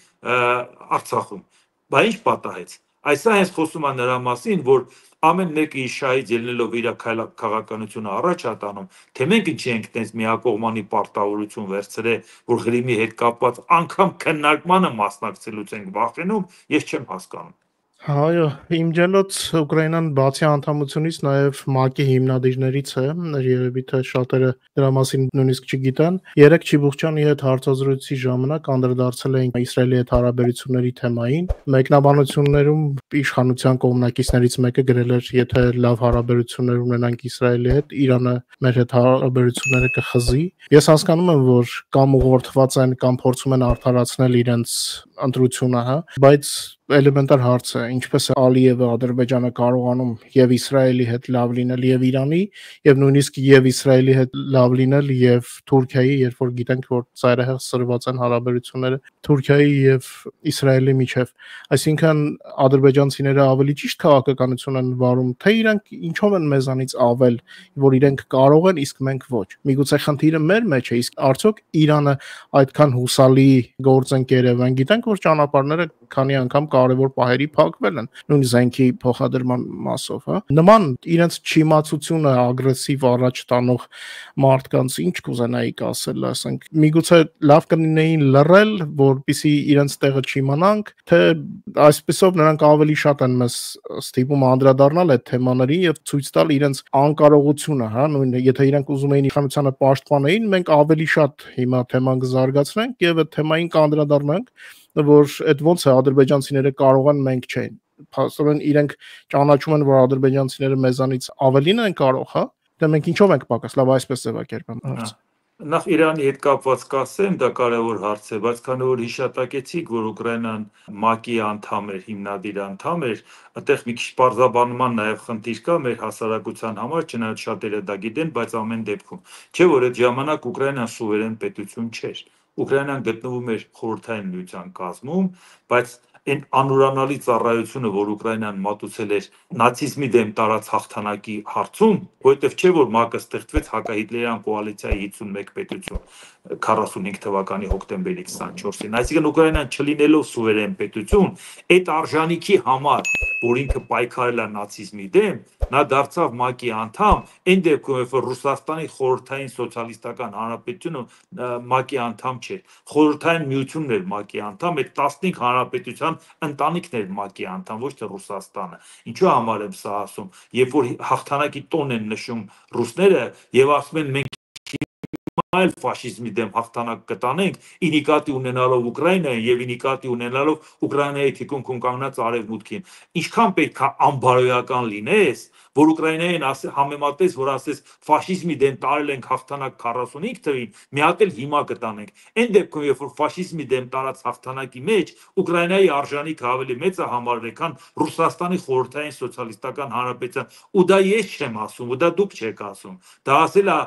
Արցախում։ Բայց ինչ պատահեց։ Այսա հենց խոսում է նրա մասին, որ ամեն մեկը իր շահից ելնելով իր քաղաքականությունը առաջ է տանում, թե մենք ինչի ենք տենց միակողմանի պարտավորություն վերցրել, որ Ղրիմի հետ կապված անգամ քննարկմանը մասնակցելուց ենք վախենում, ես չեմ հասկանում։ Այո, իմջելոց Ուկրաինան բացի անդամությունից նաև ՄԱԿ-ի հիմնադիրներից է, երևի թե շատերը դրա մասին նույնիսկ չգիտեն։ Երեք Չիբուխչյանի հետ հարցազրույցի ժամանակ անդրադարձել էին Իսրայելի հետ հարաբերությունների թեմային։ Մեկնաբանություններում իշխանության կողմնակիցներից մեկը գրել էր, եթե լավ հարաբերություններ ունենանք Իսրայելի հետ, Իրանը մեր հետ հարաբերությունները կխզի։ Ես հասկանում եմ, որ կամ ուղղորդված են, կամ փորձում են արդարացնել իրենց ընտրությունը, հա, բայց էլեմենտար հարց է, ինչպես է Ալիևը Ադրբեջանը կարողանում եւ Իսրայելի հետ լավ լինել եւ Իրանի եւ նույնիսկ եւ Իսրայելի հետ լավ լինել եւ Թուրքիայի, երբ որ գիտենք, որ ծայրահեղ սրված են հարաբերությունները Թուրքիայի եւ Իսրայելի միջեւ, այսինքն ադրբեջանցիները ավելի ճիշտ քաղաքականություն են վարում, թե իրանք ինչով են մեզանից ավել, որ իրենք կարող են, իսկ մենք ոչ։ Միգուցե խնդիրը մեր մեջ է, իսկ արդյոք Իրանը այդքան հուսալի գործընկեր է, մենք գիտենք, որ ճանապարհները քանի անգամ կարևոր պահերի փակվել են, նույն զենքի փոխադրման մասով, հա։ Նման իրենց չիմացությունը ագրեսիվ առաջ տանող մարդկանց ինչ կուզենայիք ասել, ասենք, միգուցե լավ կլինեին լռել, որպեսզի իրենց տեղը չիմանանք, թե այսպեսով նրանք ավելի շատ են մեզ ստիպում անդրադառնալ այդ թեմաներին եւ ցույց տալ իրենց անկարողությունը, հա, նույն եթե իրենք ուզում էին իշխանությանը պաշտպանեին, մենք ավելի շատ հիմա թեման կզարգացնենք եւ այդ թեմային կանդրադառնանք, որ այդ ոնց է ադրբեջանցիները կարող են, մենք չենք։ Փաստորեն իրենք ճանաչում են, որ ադրբեջանցիները մեզանից ավելին են կարող, հա։ Դե մենք ինչով ենք պակաս, լավ այսպես ձևակերպեմ հարցը։ Նախ Իրանի հետ կապված կասեմ, դա կարևոր հարց է, բայց քանի որ հիշատակեցիք, որ Ուկրաինան ՄԱԿ-ի անդամ էր, հիմնադիր անդամ էր, այդտեղ մի քիչ պարզաբանման նաև խնդիր կա մեր հասարակության համար, չնայած շատերը դա գիտեն, բայց ամեն դեպքում, չէ՞ որ այդ ժամանակ Ուկրաինան սուվերեն պետություն չէր։ Ուկրաինան գտնվում էր խորհրդային միության կազմում, բայց այն անուրանալի ծառայությունը, որ Ուկրաինան մատուցել էր նացիզմի դեմ տարած հաղթանակի հարցում, որովհետև չէ որ ՄԱԿ-ը ստեղծվեց հակահիտլերյան կոալիցիայի հիսունմեկ պետություն քառասունհինգ թվականի հոկտեմբերի քսանչորսին, այսինքն Ուկրաինան չլինելով սուվերեն պետություն, այդ արժանիքի համար, որ ինքը պայքարել է նացիզմի դեմ, նա դարձավ ՄԱԿ-ի անդամ, այն դեպքում, երբ որ Ռուսաստանի խորհրդային սոցիալիստական հանրապետությունը ՄԱԿ-ի անդամ չէր, խորհրդային միությունն էր ՄԱԿ-ի անդամ, այդ տասնհինգ հանրապետության ընտանիքն էր ՄԱԿ-ի անդամ, ոչ թե Ռուսաստանը։ Ինչու համար եմ սա ասում, երբ որ հաղթանակի տոն են նշում ռուսները եւ ասում են մենք այլ ֆաշիզմի դեմ հաղթանակ կտանենք, ի նկատի ունենալով Ուկրաինային եւ ի նկատի ունենալով Ուկրաինայի թիկունքում կանգնած արևմուտքին, ինչքան պետք է անբարոյական լինես, որ Ուկրաինային համեմատես, որ ասես ֆաշիզմի դեմ տարել ենք հաղթանակ քառասունհինգ թվին, մի հատ էլ հիմա կտանենք։ Այն դեպքում, երբ որ ֆաշիզմի դեմ տարած հաղթանակի մեջ Ուկրաինայի արժանիքը ավելի մեծ է համարվել, քան Ռուսաստանի խորհրդային սոցիալիստական հանրապետության, ու դա ես չեմ ասում, ու դա դուք չեք ասում։ Դա ասել է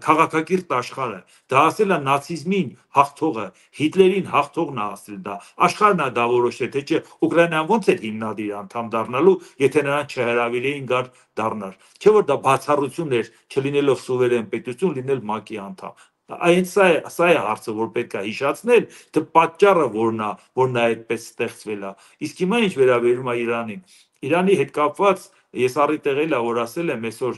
քաղաքակիրթ աշխարհը, դա ասել է նացիզմին հաղթողը, Հիտլերին հաղթողն է ասել դա։ Աշխարհն է դա որոշել, թե չէ Ուկրաինան ոնց էր հիմնադիր անդամ դառնալու, եթե նրան չհրավիրեին գար դառնալ։ Չէ որ դա բացառություն էր, չլինելով սուվերեն պետություն, լինել ՄԱԿ-ի անդամ։ Այն սա է, սա է հարցը, որ պետք է հիշացնել, թե պատճառը որն է, որ նա այդպես ստեղծվել է։ Իսկ հիմա ինչ վերաբերում է Իրանին, Իրանի հետ կապված ես առիթ եղել է, որ ասել եմ այսօր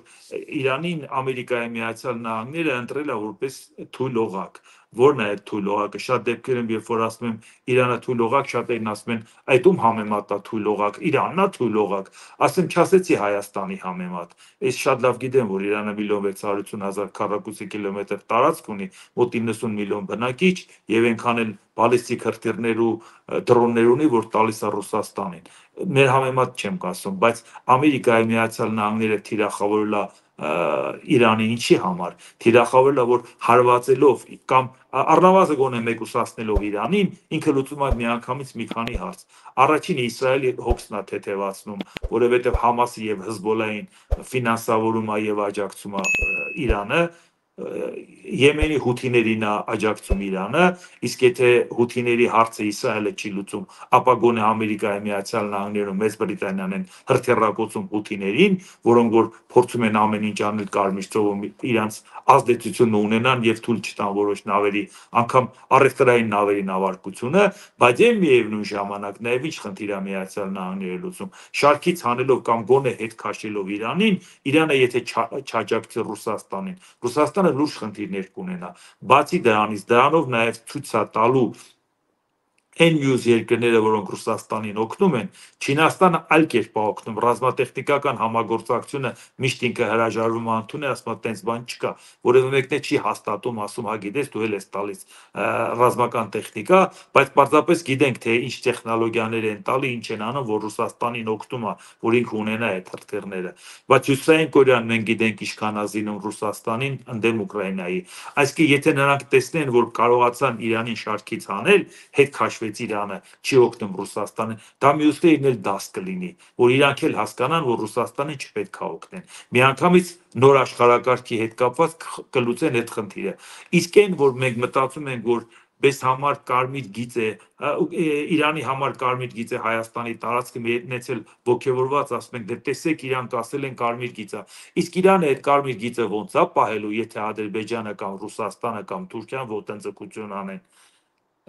Իրանին Ամերիկայի Միացյալ Նահանգները ընտրել է որպես թույլ օղակ։ Որն է այդ թույլ օղակը։ Շատ դեպքերում, երբ որ ասում եմ Իրանը թույլ օղակ, շատերն ասում են, այդ ում համեմատ է թույլ օղակ, Իրանն է թույլ օղակ։ Ասեմ, չասեցի Հայաստանի համեմատ։ Ես շատ լավ գիտեմ, որ Իրանը միլիոն վեց հարյուր ութ հազար քառակուսի կիլոմետր տարածք ունի, մոտ իննսուն միլիոն բնակիչ, եւ այնքան էլ բալիստիկ հրթիռներ ու դրոններ ունի, որ տալիս է Ռուսաստանին։ Մեր համեմատ չեմ ասում, բայց Ամերիկայի Միացյալ Նահանգները թիրախավորել է Իրանի ինչի համար, թիրախավորել է, որ հարվածելով կամ առնվազն գոնե մեկուսացնելով Իրանին, ինքը լուծում է միանգամից մի քանի հարց։ Առաջինը Իսրայելի հոգսն է թեթևացնում, որովհետև Համասի եւ Հեզբոլային ֆինանսավորում է եւ աջակցում է Իրանը, Եմենի հութիներին է աջակցում Իրանը, իսկ եթե հութիների հարցը Իսրայելը չի լուծում, ապա գոնե Ամերիկայի Միացյալ Նահանգներում Մեծ Բրիտանիան են հրթիռակոծում հութիներին, որոնք որ փորձում են ամեն ինչ անել Կարմիր ծովում իրանց ազդեցությունը ունենան եւ թույլ չտան որոշ նավերի, անգամ առևտրային նավերի նավարկությունը, բայց եւ միևնույն ժամանակ նաեւ ինչ խնդիր է Միացյալ Նահանգները լուծում, շարքից հանելով կամ գոնե հետ քաշելով Իրանին, Իրանը եթե չաջակցի Ռուսաստանին, Ռուսաստանը լուրջ խնդիրներ կունենա։ Բացի դրանից, դրանով նաև ցույց է տալու Այն մյուս երկրները, որոնք Ռուսաստանին օգնում են, Չինաստանը այլ կերպ է օգնում, ռազմատեխնիկական համագործակցությունը միշտ ինքը հրաժարվում է ընդունել, ասում է տենց բան չկա, որևէ մեկն է չի հաստատում, ասում հա գիտես դու էլ ես տալիս ռազմական տեխնիկա, բայց պարզապես գիտենք թե ինչ տեխնոլոգիաներ են տալի, ինչ են անում, որ Ռուսաստանին օգնում է, որ ինքը ունենա այդ հրթիռները, բայց Հյուսիսային Կորեան մենք գիտենք ինչքան ազինում Ռուսաստանին ընդդեմ Ուկրաինայի, այսինքն եթե նրանք տեսնեն, որ կարողացան Իրանին շարքից հանել, հետ քաշվեց Իրանը, չի օգնում Ռուսաստանը, դա մյուսներին էլ դաս կլինի, որ իրանք էլ հասկանան, որ Ռուսաստանին չպետք է օգնեն։ Միանգամից նոր աշխարհակարգի հետ կապված կլուծեն այդ խնդիրը։ Իսկ այն, որ մենք մտածում ենք, որ Բես համար կարմիր գիծ է, Իրանի համար կարմիր գիծ է Հայաստանի տարածքը մեծել ոգևորված, ասում ենք, դե տեսեք իրանք ասել են կարմիր գիծ է։ Իսկ Իրանը այդ կարմիր գիծը ոնց է պահելու, եթե Ադրբեջանը կամ Ռուսաստանը կամ Թուրքիան ոտնձգություն անեն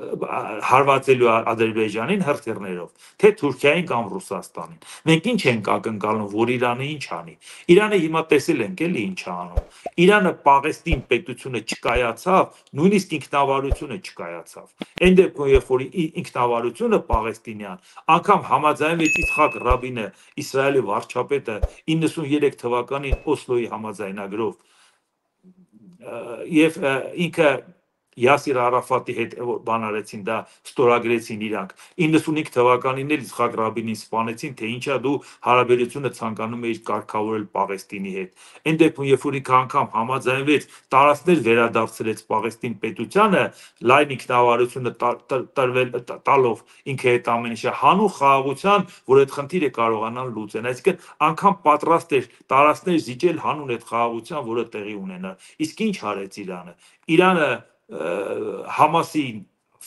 հարվածելու Ադրբեջանին հրթիռներով, թե Թուրքիային կամ Ռուսաստանին։ Մենք ինչ ենք ակնկալում, որ Իրանը ինչ անի։ Իրանը հիմա տեսել ենք էլի ինչ է անում։ Իրանը Պաղեստին պետությունը չկայացավ, նույնիսկ ինքնավարությունը չկայացավ։ Այն դեպքում, երբ որ ինքնավարությունը Պաղեստինյան, անգամ համաձայնվեց Իցխակ Ռաբինը, Իսրայելի վարչապետը իննսուններեք թվականին Օսլոյի համաձայնագրով, եւ ինքը Յասիր Արաֆատի հետ բան արեցին, դա ստորագրեցին իրանք։ իննսունհինգ թվականին էլ Իցխակ Ռաբինին սպանեցին, թե ինչա դու հարաբերությունը ցանկանում էիր կարգավորել Պաղեստինի հետ։ Այն դեպքում, երբ որ ինքը անգամ համաձայնվեց տարածքներ վերադարձրեց Պաղեստին պետությանը, լայն ինքնավարությունը տրվել տալով ինքը այդ ամեն ինչը հանուն խաղաղության, որ այդ խնդիրը կարողանան լուծեն։ Այսինքն անգամ պատրաստ էր տարածքներ զիջել հանուն այդ խաղաղության, որը տեղի ունենար։ Իսկ ինչ արեց Իրանը։ Իրանը Համասին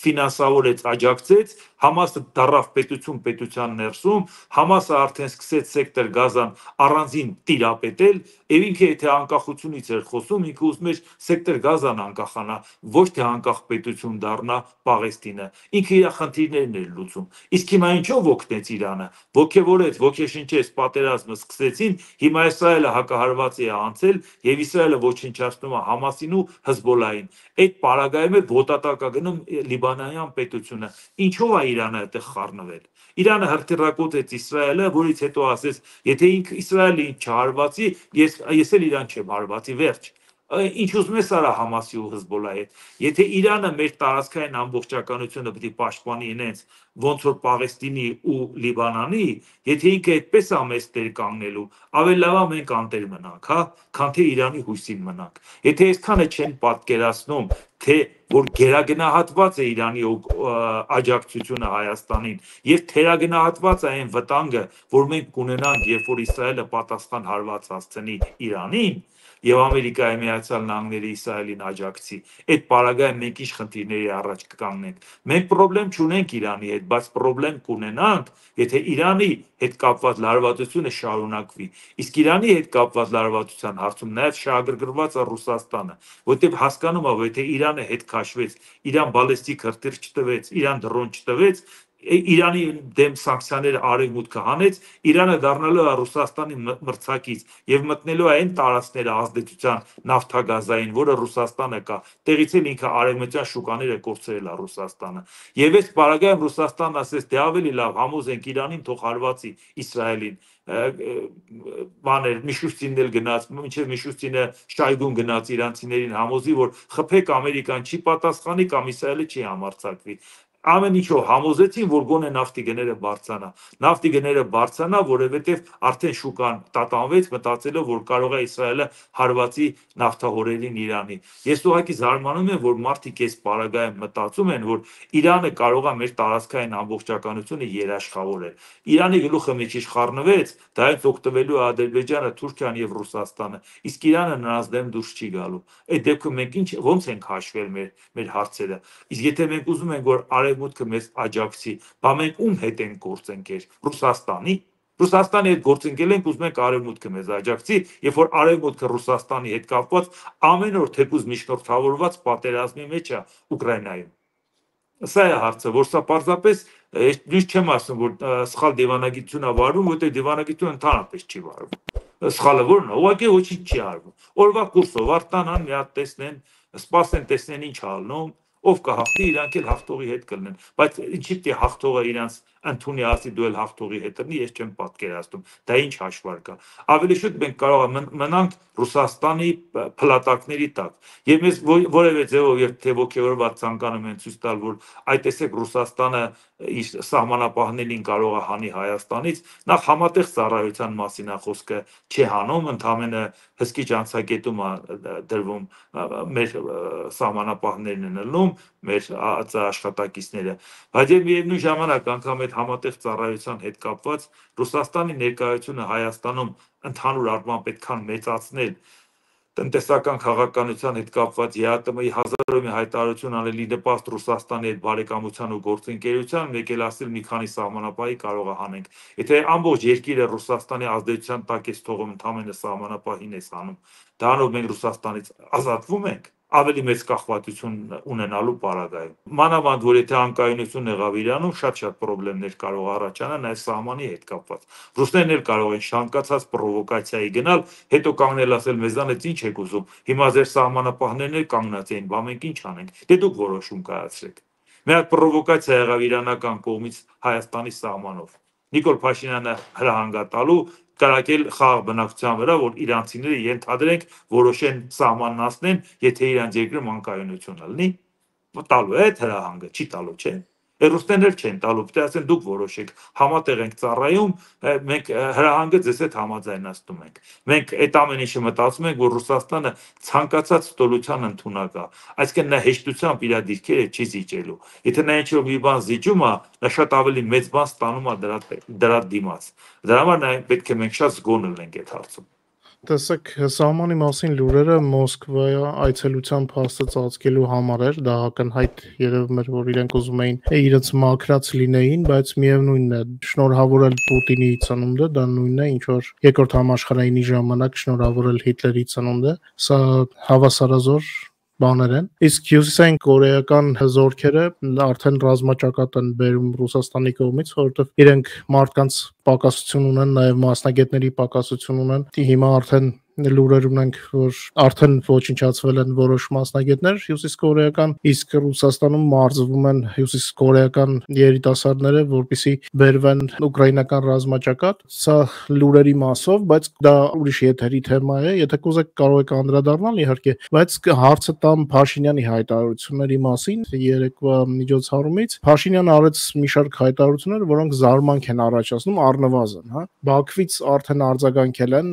ֆինանսավորեց, աջակցեց, Համասը դարավ պետություն պետության ներսում, Համասը արդեն սկսեց սեկտոր Գազան առանձին տիրապետել, եւ ինքը եթե անկախությունից էր խոսում, ինքը ուզում էր սեկտոր Գազան անկախանա, ոչ թե անկախ պետություն դառնա Պաղեստինը։ Ինքը իր խնդիրներն էր լուծում։ Իսկ հիմա ինչով օգնեց Իրանը։ Ոգևորեց, ոգեշնչեց պատերազմը սկսեցին, հիմա Իսրայելը հակահարված է անցել եւ Իսրայելը ոչնչացնում է Համասին ու Հեզբոլային։ Այդ պարագայում է ոտատակա գնում Լիբանանյան պետությունը։ Ինչով է Իրանը այդտեղ խառնվել։ Իրանը հրթիռակոծեց Իսրայելը, որից հետո ասեց, եթե ինքը Իսրայելը ինձ չհարվածի, ես ես էլ Իրան չեմ հարվածի, վերջ։ Ինչ ուզում ես արա Համասի ու Հեզբոլայի հետ։ Եթե Իրանը մեր տարածքային ամբողջականությունը պետք է պաշտպանի ինձ, ոնց որ Պաղեստինի ու Լիբանանի, եթե ինքը այդպես է մեծ տեր կանգնելու, ավելի լավ է մենք անտեր մնանք, հա, քան թե Իրանի հույսին մնանք։ Եթե այսքանը չեն պատկերացնում, թե որ գերագնահատված է Իրանի աջակցությունը Հայաստանին եւ թերագնահատված է այն վտանգը, որ մենք կունենանք, երբ որ Իսրայելը պատասխան հարված հասցնի Իրանին, եւ Ամերիկայի Միացյալ Նահանգները Իսրայելին աջակցի, այդ պարագայում մենք ինչ խնդիրների առաջ կկանգնենք։ Մենք խնդրեմ չունենք Իրանի հետ, բայց խնդրեմ կունենանք, եթե Իրանի հետ կապված լարվածությունը շարունակվի։ Իսկ Իրանի հետ կապված լարվածության հարցում նաեւ շահագրգռված է Ռուսաստանը, որտեղ հասկանում է, որ եթե Իրանը հետ քաշվեց, Իրան բալեստիկ հրթիռ չտվեց, Իրան դրոն չտվեց, Իրանի դեմ սանկցիաները արևմուտքը հանեց, Իրանը դառնալու է Ռուսաստանի մրցակից եւ մտնելու է այն տարածքները ազդեցության նավթագազային, որը Ռուսաստանը կա, տեղից էլ ինքը արևմտյան շուկաները կորցրել է Ռուսաստանը։ Եվ այս պարագայում Ռուսաստանն ասեց, դե ավելի լավ համոզենք Իրանին, թող հարվածի Իսրայելին։ Բաներ Միշուստինն էլ գնաց, մինչև Միշուստինը Շայգուն գնաց իրանցիներին համոզի, որ խփեք Ամերիկան չի պատասխանի կամ Իսրայելը չի համարձակվի։ Ամեն ինչով համոզեցին, որ գոնե նավթի գները բարձրանա։ Նավթի գները բարձրանա, որովհետև արդեն շուկան տատանվեց, մտածելով, որ կարող է Իսրայելը հարվածի նավթահորերին Իրանի։ Ես ուղղակի զարմանում եմ, որ մարդիկ այս պարագայում մտածում են, որ Իրանը կարող է մեր տարածքային ամբողջականությունը երաշխավորել։ Իրանի գլուխը մի քիչ խառնվեց, դրանից օգտվելու է Ադրբեջանը, Թուրքիան եւ Ռուսաստանը։ Իսկ Իրանը նրանց դեմ դուրս չի գալու։ Այդ դեպքում մենք ինչ ոնց ենք հաշվել մեր մեր հարցերը։ Իսկ եթե մենք ուզում ենք, որ արևմուտքը մեզ աջակցի, բա մենք ում հետ ենք գործընկեր, Ռուսաստանի։ Ռուսաստանի հետ գործընկել ենք, ուզում ենք արևմուտքը մեզ աջակցի, երբ որ արևմուտքը Ռուսաստանի հետ կապված ամեն օր թեկուզ միջնորդավորված պատերազմի մեջ է Ուկրաինայում։ Սա է հարցը, որ սա պարզապես ես չեմ ասում, որ սխալ դիվանագիտություն է վարվում, որտեղ դիվանագիտությունը ընդհանրապես չի վարվում։ Սխալը որն է, ուղղակի ոչինչ չի արվում։ Օրվա կուրսով արտանան մի հատ տեսնեն, սպասեն տեսնեն ինչ ալնում, ով կհաղթի, իրանք էլ հաղթողի հետ կլինեն, բայց ինչի՞ պիտի հաղթողը իրանց ընդունի ասի դու էլ հաղթողի հետ լինի, ես չեմ պատկերացնում, դա ինչ հաշվարկ է։ Ավելի շուտ մենք կարող ենք մնանք Ռուսաստանի փլատակների տակ։ Եվ ես որևէ ձևով եւ թե ոգևորված ցանկանում են ցույց տալ, որ այ տեսեք Ռուսաստանը իր սահմանապահներին կարող է հանի Հայաստանից, նախ համատեղ ծառայության մասին է խոսքը չի հանում, ընդհանրապես հսկիչ անցակետում է դրվում մեր սահմանապահներն են ելնում, մեր աշխատակիցները, բայց եւ միևնույն ժամանակ անգամ այդ համատեղ ծառայության հետ կապված Ռուսաստանի ներկայությունը Հայաստանում ընդհանուր առմամբ պետքան մեծացնել տնտեսական քաղաքականության հետ կապված ԵԱՏՄ-ի հազար ու մի հայտարարություն անելի նպաստ Ռուսաստանի հետ բարեկամության ու գործընկերության, մեկ էլ ասել մի քանի սահմանապահի կարող է հանենք։ Եթե ամբողջ երկիրը Ռուսաստանի ազդեցության տակ է թողում, ընդհանրապես սահմանապահին է հանում, դրանով մենք Ռուսաստանից ազատվում ենք ավելի մեծ կախվածություն ունենալու պարագայում։ Մանավանդ որ եթե անկայունություն եղավ Իրանում, շատ-շատ խնդիրներ կարող առաջանան այս սահմանի հետ կապված։ Ռուսներն էլ կարող են շանկացած պրովոկացիայի գնալ, հետո կանգնել ասել մեզանից ինչ եք ուզում։ Հիմա ձեր սահմանապահներն էլ կանգնած էին, բա մենք ինչ անենք։ Դե դուք որոշում կայացրեք։ Մի հատ պրովոկացիա եղավ իրանական կողմից Հայաստանի սահմանով։ Նիկոլ Փաշինյանը հրահանգատալու կարակել խաղ բնակության վրա, որ իրանցիները ենթադրենք որոշեն սահմանն անցնեն, եթե իրանց երկրում անկայունություն լինի, տալու է հրահանգը, չի տալու, չէ։ Ռուսներն էլ չեն տալու, պետք է ասեն դուք որոշեք, համատեղ ենք ծառայում, մենք հրահանգը ձեզ հետ համաձայնացնում ենք։ Մենք այդ ամեն ինչը մտածում ենք, որ Ռուսաստանը ցանկացած ստորության ընդունակ է, այսինքն նա հեշտությամբ իր դիրքերը չի զիջելու։ Եթե նա ինչ-որ մի բան զիջում է, նա շատ ավելի մեծ բան ստանում է դրա դրա դիմաց։ Դրա համար նա պետք է մենք շատ զգոն լինենք այդ հարցում։ Տեսեք, սահմանի մասին լուրերը Մոսկվայ այցելության փաստը ծածկելու համար էր, դա ակնհայտ երևում էր, որ իրենք ուզում էին իրենց մաքրած լինեին, բայց միևնույնն է, շնորհավորել Պուտինի ծնունդը, դա նույնն է, ինչ որ երկրորդ համաշխարհայինի ժամանակ շնորհավորել Հիտլերի ծնունդը, սա հավասարազոր բաներ են։ Իսկ հյուսիսային կորեական զորքերը արդեն ռազմաճակատ են բերում Ռուսաստանի կողմից, որովհետև իրենք մարդկանց պակասություն ունեն, նաև մասնագետների պակասություն ունեն։ Հիմա արդեն լուրեր ունենք, որ արդեն ոչնչացվել են որոշ մասնագետներ հյուսիսկորեական, իսկ Ռուսաստանում մարզվում են հյուսիսկորեական երիտասարդները, որպեսզի բերվեն ուկրաինական ռազմաճակատ։ Սա լուրերի մասով, բայց դա ուրիշ եթերի թեմա է, եթե կուզեք կարող եք անդրադառնալ իհարկե, բայց հարցը տամ Փաշինյանի հայտարարությունների մասին երեկվա միջոցառումից։ Փաշինյանը արեց մի շարք հայտարարություններ, որոնք զարմանք են առաջացնում առնվազն, հա։ Բաքվից արդեն արձագանքել են,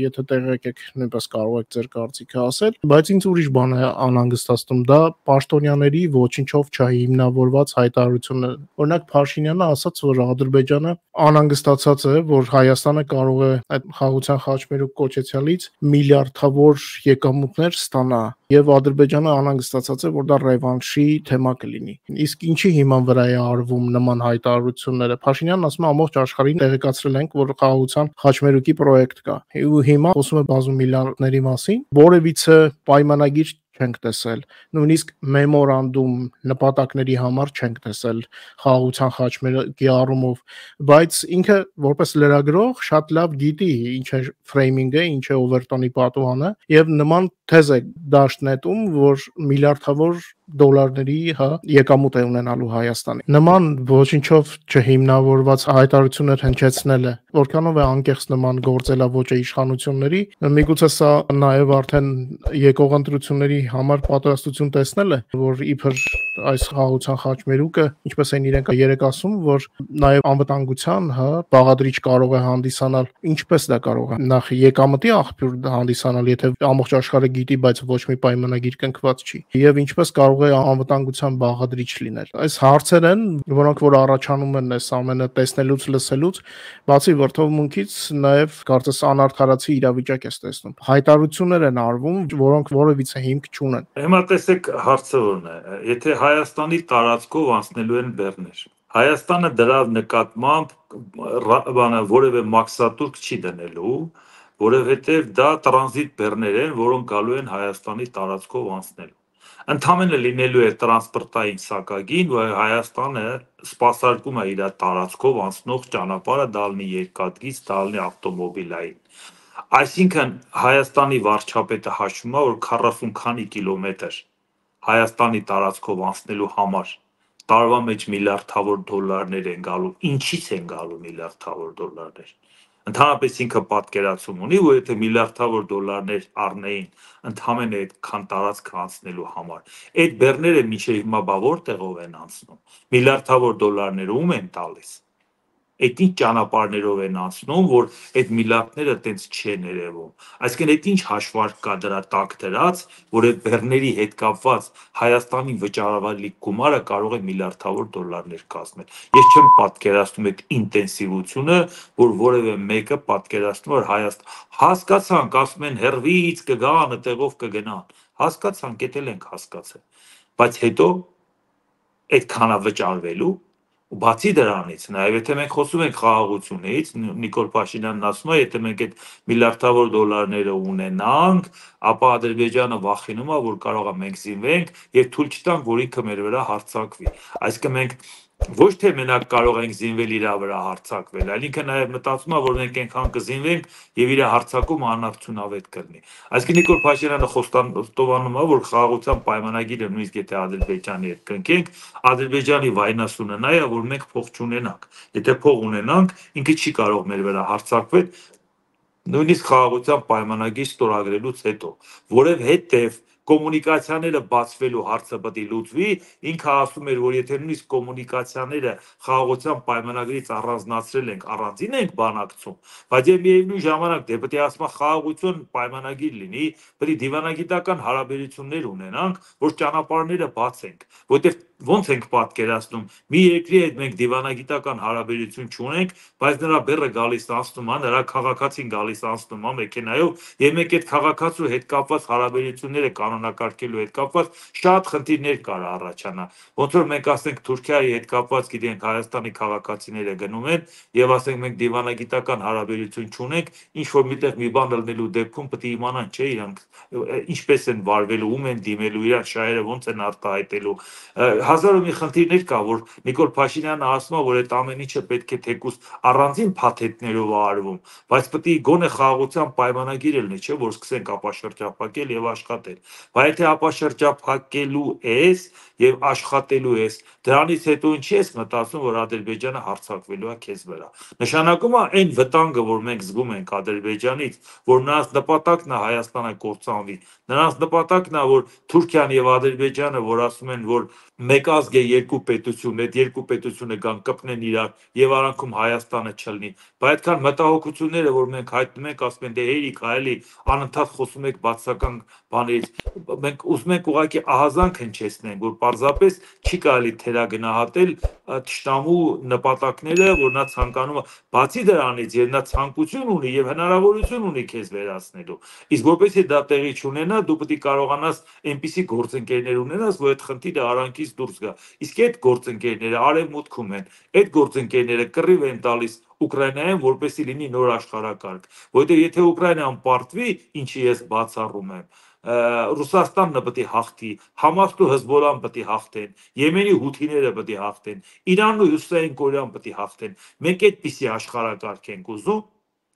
եթե տեղ եկեք նույնպես կարող եք ձեր կարծիքը ասել, բայց ինձ ուրիշ բան է անհանգստացնում, դա պաշտոնյաների ոչինչով չհիմնավորված հայտարարություններ։ Օրինակ Փաշինյանը ասաց, որ Ադրբեջանը անհանգստացած է, որ Հայաստանը կարող է այդ խաղաղության խաչմերուկ կոչեցյալից միլիարդավոր եկամուտներ ստանա, եւ Ադրբեջանը անհանգստացած է, որ դա ռևանշի թեմա կլինի։ Իսկ ինչի հիման վրա է արվում նման հայտարարությունները։ Փաշինյանն ասում է ամբողջ աշխարհին տեղեկացրել ենք, որ խաղաղության խաչմերուկի պրոյեկտ կա։ Ու հիմա խոսում է բազում միլիարդների մասին, որևիցե պայմանագիր չենք տեսել, նույնիսկ մեմորանդում նպատակների համար չենք տեսել խաղաղության խաչմերուկի առումով, բայց ինքը որպես լրագրող շատ լավ գիտի ինչ է ֆրեյմինգը, ինչ է օվերտոնի պատուհանը եւ նման թեզ է դաշտ նետում, որ միլիարդավոր դոլարների, հա, եկամուտ է ունենալու Հայաստանի։ Նման ոչինչով չհիմնավորված հայտարարություններ հնչեցնելը, որքանով է անկեղծ նման գործելավոճը իշխանությունների, միգուցե սա նաև արդեն եկող ընտրությունների համար պատրաստություն տեսնել է, որ իբր այս խաղաղության խաչմերուկը, ինչպես են իրենք երեք ասում, որ նաև անվտանգության, հա, բաղադրիչ կարող է հանդիսանալ, ինչպես դա կարող է նախ եկամտի աղբյուր հանդիսանալ, եթե ամբողջ աշխարհը գիտի, բայց ոչ մի պայմանագիր կնքված չի, եւ ինչպես կարող է անվտանգության բաղադրիչ լինել։ Այս հարցեր են, որոնք որ առաջանում են այս ամենը տեսնելուց, լսելուց, բացի վրդովմունքից նաև կարծես անարդարացի իրավիճակ է տեսնում։ Հայտարարություններ են արվում, որոնք որևիցե հիմք չունեն։ Հիմա տեսեք հարցը որն է, եթե Հայաստանի տարածքով անցնելու են բեռներ, Հայաստանը դրա նկատմամբ բանը որևէ մաքսատուրք չի դնելու, որովհետև դա տրանզիտ բեռներ են, որոնք գալու են Հայաստանի տարածքով անցնելու։ Ընդամենը լինելու է տրանսպորտային սակագին, որ Հայաստանը սպասարկում է իր տարածքով անցնող ճանապարհը, դա լինի երկաթգիծ, դա լինի ավտոմոբիլային։ Այսինքն Հայաստանի վարչապետը հաշվում է, որ քառասուն քանի կիլոմետր Հայաստանի տարածքով անցնելու համար տարվա մեջ միլիարդավոր դոլարներ են գալու, ինչից են գալու միլիարդավոր դոլարներ։ Ընդհանրապես ինքը պատկերացում ունի, որ եթե միլիարդավոր դոլարներ առնեին ընդհանրեն այդքան տարածք անցնելու համար, այդ բեռները մինչև հիմա բա որտեղով են անցնում, միլիարդավոր դոլարները ում են տալիս։ Այդ ինչ ճանապարհներով են անցնում, որ այդ միլիարդները տենց չեն երևում։ Այսինքն այդ ինչ հաշվարկ կա դրա տակ դրած, որ այդ բեռների հետ կապված Հայաստանի վճարավարի գումարը կարող է միլիարդավոր դոլարներ կազմել։ Ես չեմ պատկերացնում այդ ինտենսիվությունը, որ որևէ մեկը պատկերացնում որ Հայաստան հասկացանք, ասում են հերվից կգան, այդտեղով կգնան։ Հասկացանք, էդ էլ ենք հասկացել։ Բայց հետո այդքանա վճարվելու ու բացի դրանից, նաև եթե մենք խոսում ենք խաղաղությունից, Նիկոլ Փաշինյանն ասում է, եթե մենք այդ միլիարդավոր դոլարները ունենանք, ապա Ադրբեջանը վախենում է, որ կարող է մենք զինվենք եւ թույլ չտանք, որ ինքը մեր վրա հարձակվի։ Այսինքն մենք ոչ թե մենակ կարող ենք զինվել իր վրա հարձակվել, այլ ինքը նաև մտածում է, որ մենք այնքան կզինվենք եւ իր հարձակումը անարդյունավետ կլինի։ Այսինքն Նիկոլ Փաշինյանը խոստովանում է, որ խաղաղության պայմանագիրը նույնիսկ եթե Ադրբեջանի հետ կնքենք, Ադրբեջանի վայնասունը նա է, որ մենք փող չունենանք։ Եթե փող ունենանք, ինքը չի կարող մեր վրա հարձակվել, նույնիսկ խաղաղության պայմանագիր ստորագրելուց հետո, որովհետև կոմունիկացիաները բացվելու հարցը պետք է լուծվի, ինքը ասում էր, որ եթե նույնիսկ կոմունիկացիաները խաղաղության պայմանագրից առանձնացրել ենք, առանձին ենք բանակցում, բայց եւ միևնույն ժամանակ դե պետք է ասում խաղաղություն պայմանագիր լինի, պետք է դիվանագիտական հարաբերություններ ունենանք, որ ճանապարհները բացենք, որտեղ ոնց ենք պատկերացնում, մի երկրի հետ մենք դիվանագիտական հարաբերություն չունենք, բայց նրա բեռը գալիս անցնում է, նրա քաղաքացին գալիս անցնում է մեքենայով, եւ մենք այդ քաղաքացու հետ կապված հարաբերությունները կանոնակարգելու հետ կապված շատ խնդիրներ կար առաջանա։ Ոնց որ մենք ասենք Թուրքիայի հետ կապված, գիտենք, Հայաստանի քաղաքացիները գնում են եւ ասենք մենք դիվանագիտական հարաբերություն չունենք, ինչ որ միտեղ մի բան լնելու դեպքում պետք է իմանան, չէ, իրանք ինչպես են վարվելու, ում են դիմելու, իրար շահերը ոնց են արտահայտելու։ Հազար ու մի խնդիրներ կա, որ Նիկոլ Փաշինյանը ասում է, որ այդ ամեն ինչը պետք է թեկուզ առանձին փաթեթներով արվում, բայց պետք է գոնե խաղաղության պայմանագիր լինի, չէ, որ սկսենք ապաշրջափակել եւ աշխատել։ Բայց եթե ապաշրջափակելու ես եւ աշխատելու ես, դրանից հետո ինչի ես մտածում, որ Ադրբեջանը հարձակվելու է քեզ վրա։ Նշանակում է այն վտանգը, որ մենք զգում ենք Ադրբեջանից, որ նրանց նպատակն է Հայաստանը կործանվի, նրանց նպատակն է, որ Թուրքիան եւ Ադրբեջանը, որ ասում են, որ մեկ ազգ է երկու պետություն, այդ երկու պետությունը կան կպնեն իրար եւ արանքում Հայաստանը չլինի։ Բայց այդքան մտահոգությունները, որ մենք հայտնում ենք, ասում են դե հերիք, այլի անընդհատ խոսում եք բացական բաներից։ Մենք ուզում ենք ուղղակի ահազանգ հնչեցնենք, որ պարզապես չի կարելի թերագնահատել թշնամու նպատակները, որ նա ցանկանում է, բացի դրանից, եւ նա ցանկություն ունի եւ հնարավորություն ունի քեզ վերացնելու։ Իսկ որպեսզի դա տեղի չունենա, դու պետք է կարողանաս այնպիսի գործընկերներ ունենաս, որ այդ խնդիրը արանքից դուրս գա։ Իսկ այդ գործընկերները արևմուտքում են, այդ գործընկերները կռիվ են տալիս Ուկրաինային, որպեսզի լինի նոր աշխարհակարգ, որովհետեւ եթե Ուկրաինան պարտվի, ինչի ես բացառում եմ, Ռուսաստանն պետք է հաղթի, Համասն ու Հեզբոլլահն պետք է հաղթեն, Եմենի հութիները պետք է հաղթեն, Իրանն ու Հյուսիսային Կորեան պետք է հաղթեն։ Մենք այդպիսի աշխարհակարգ ենք ուզում։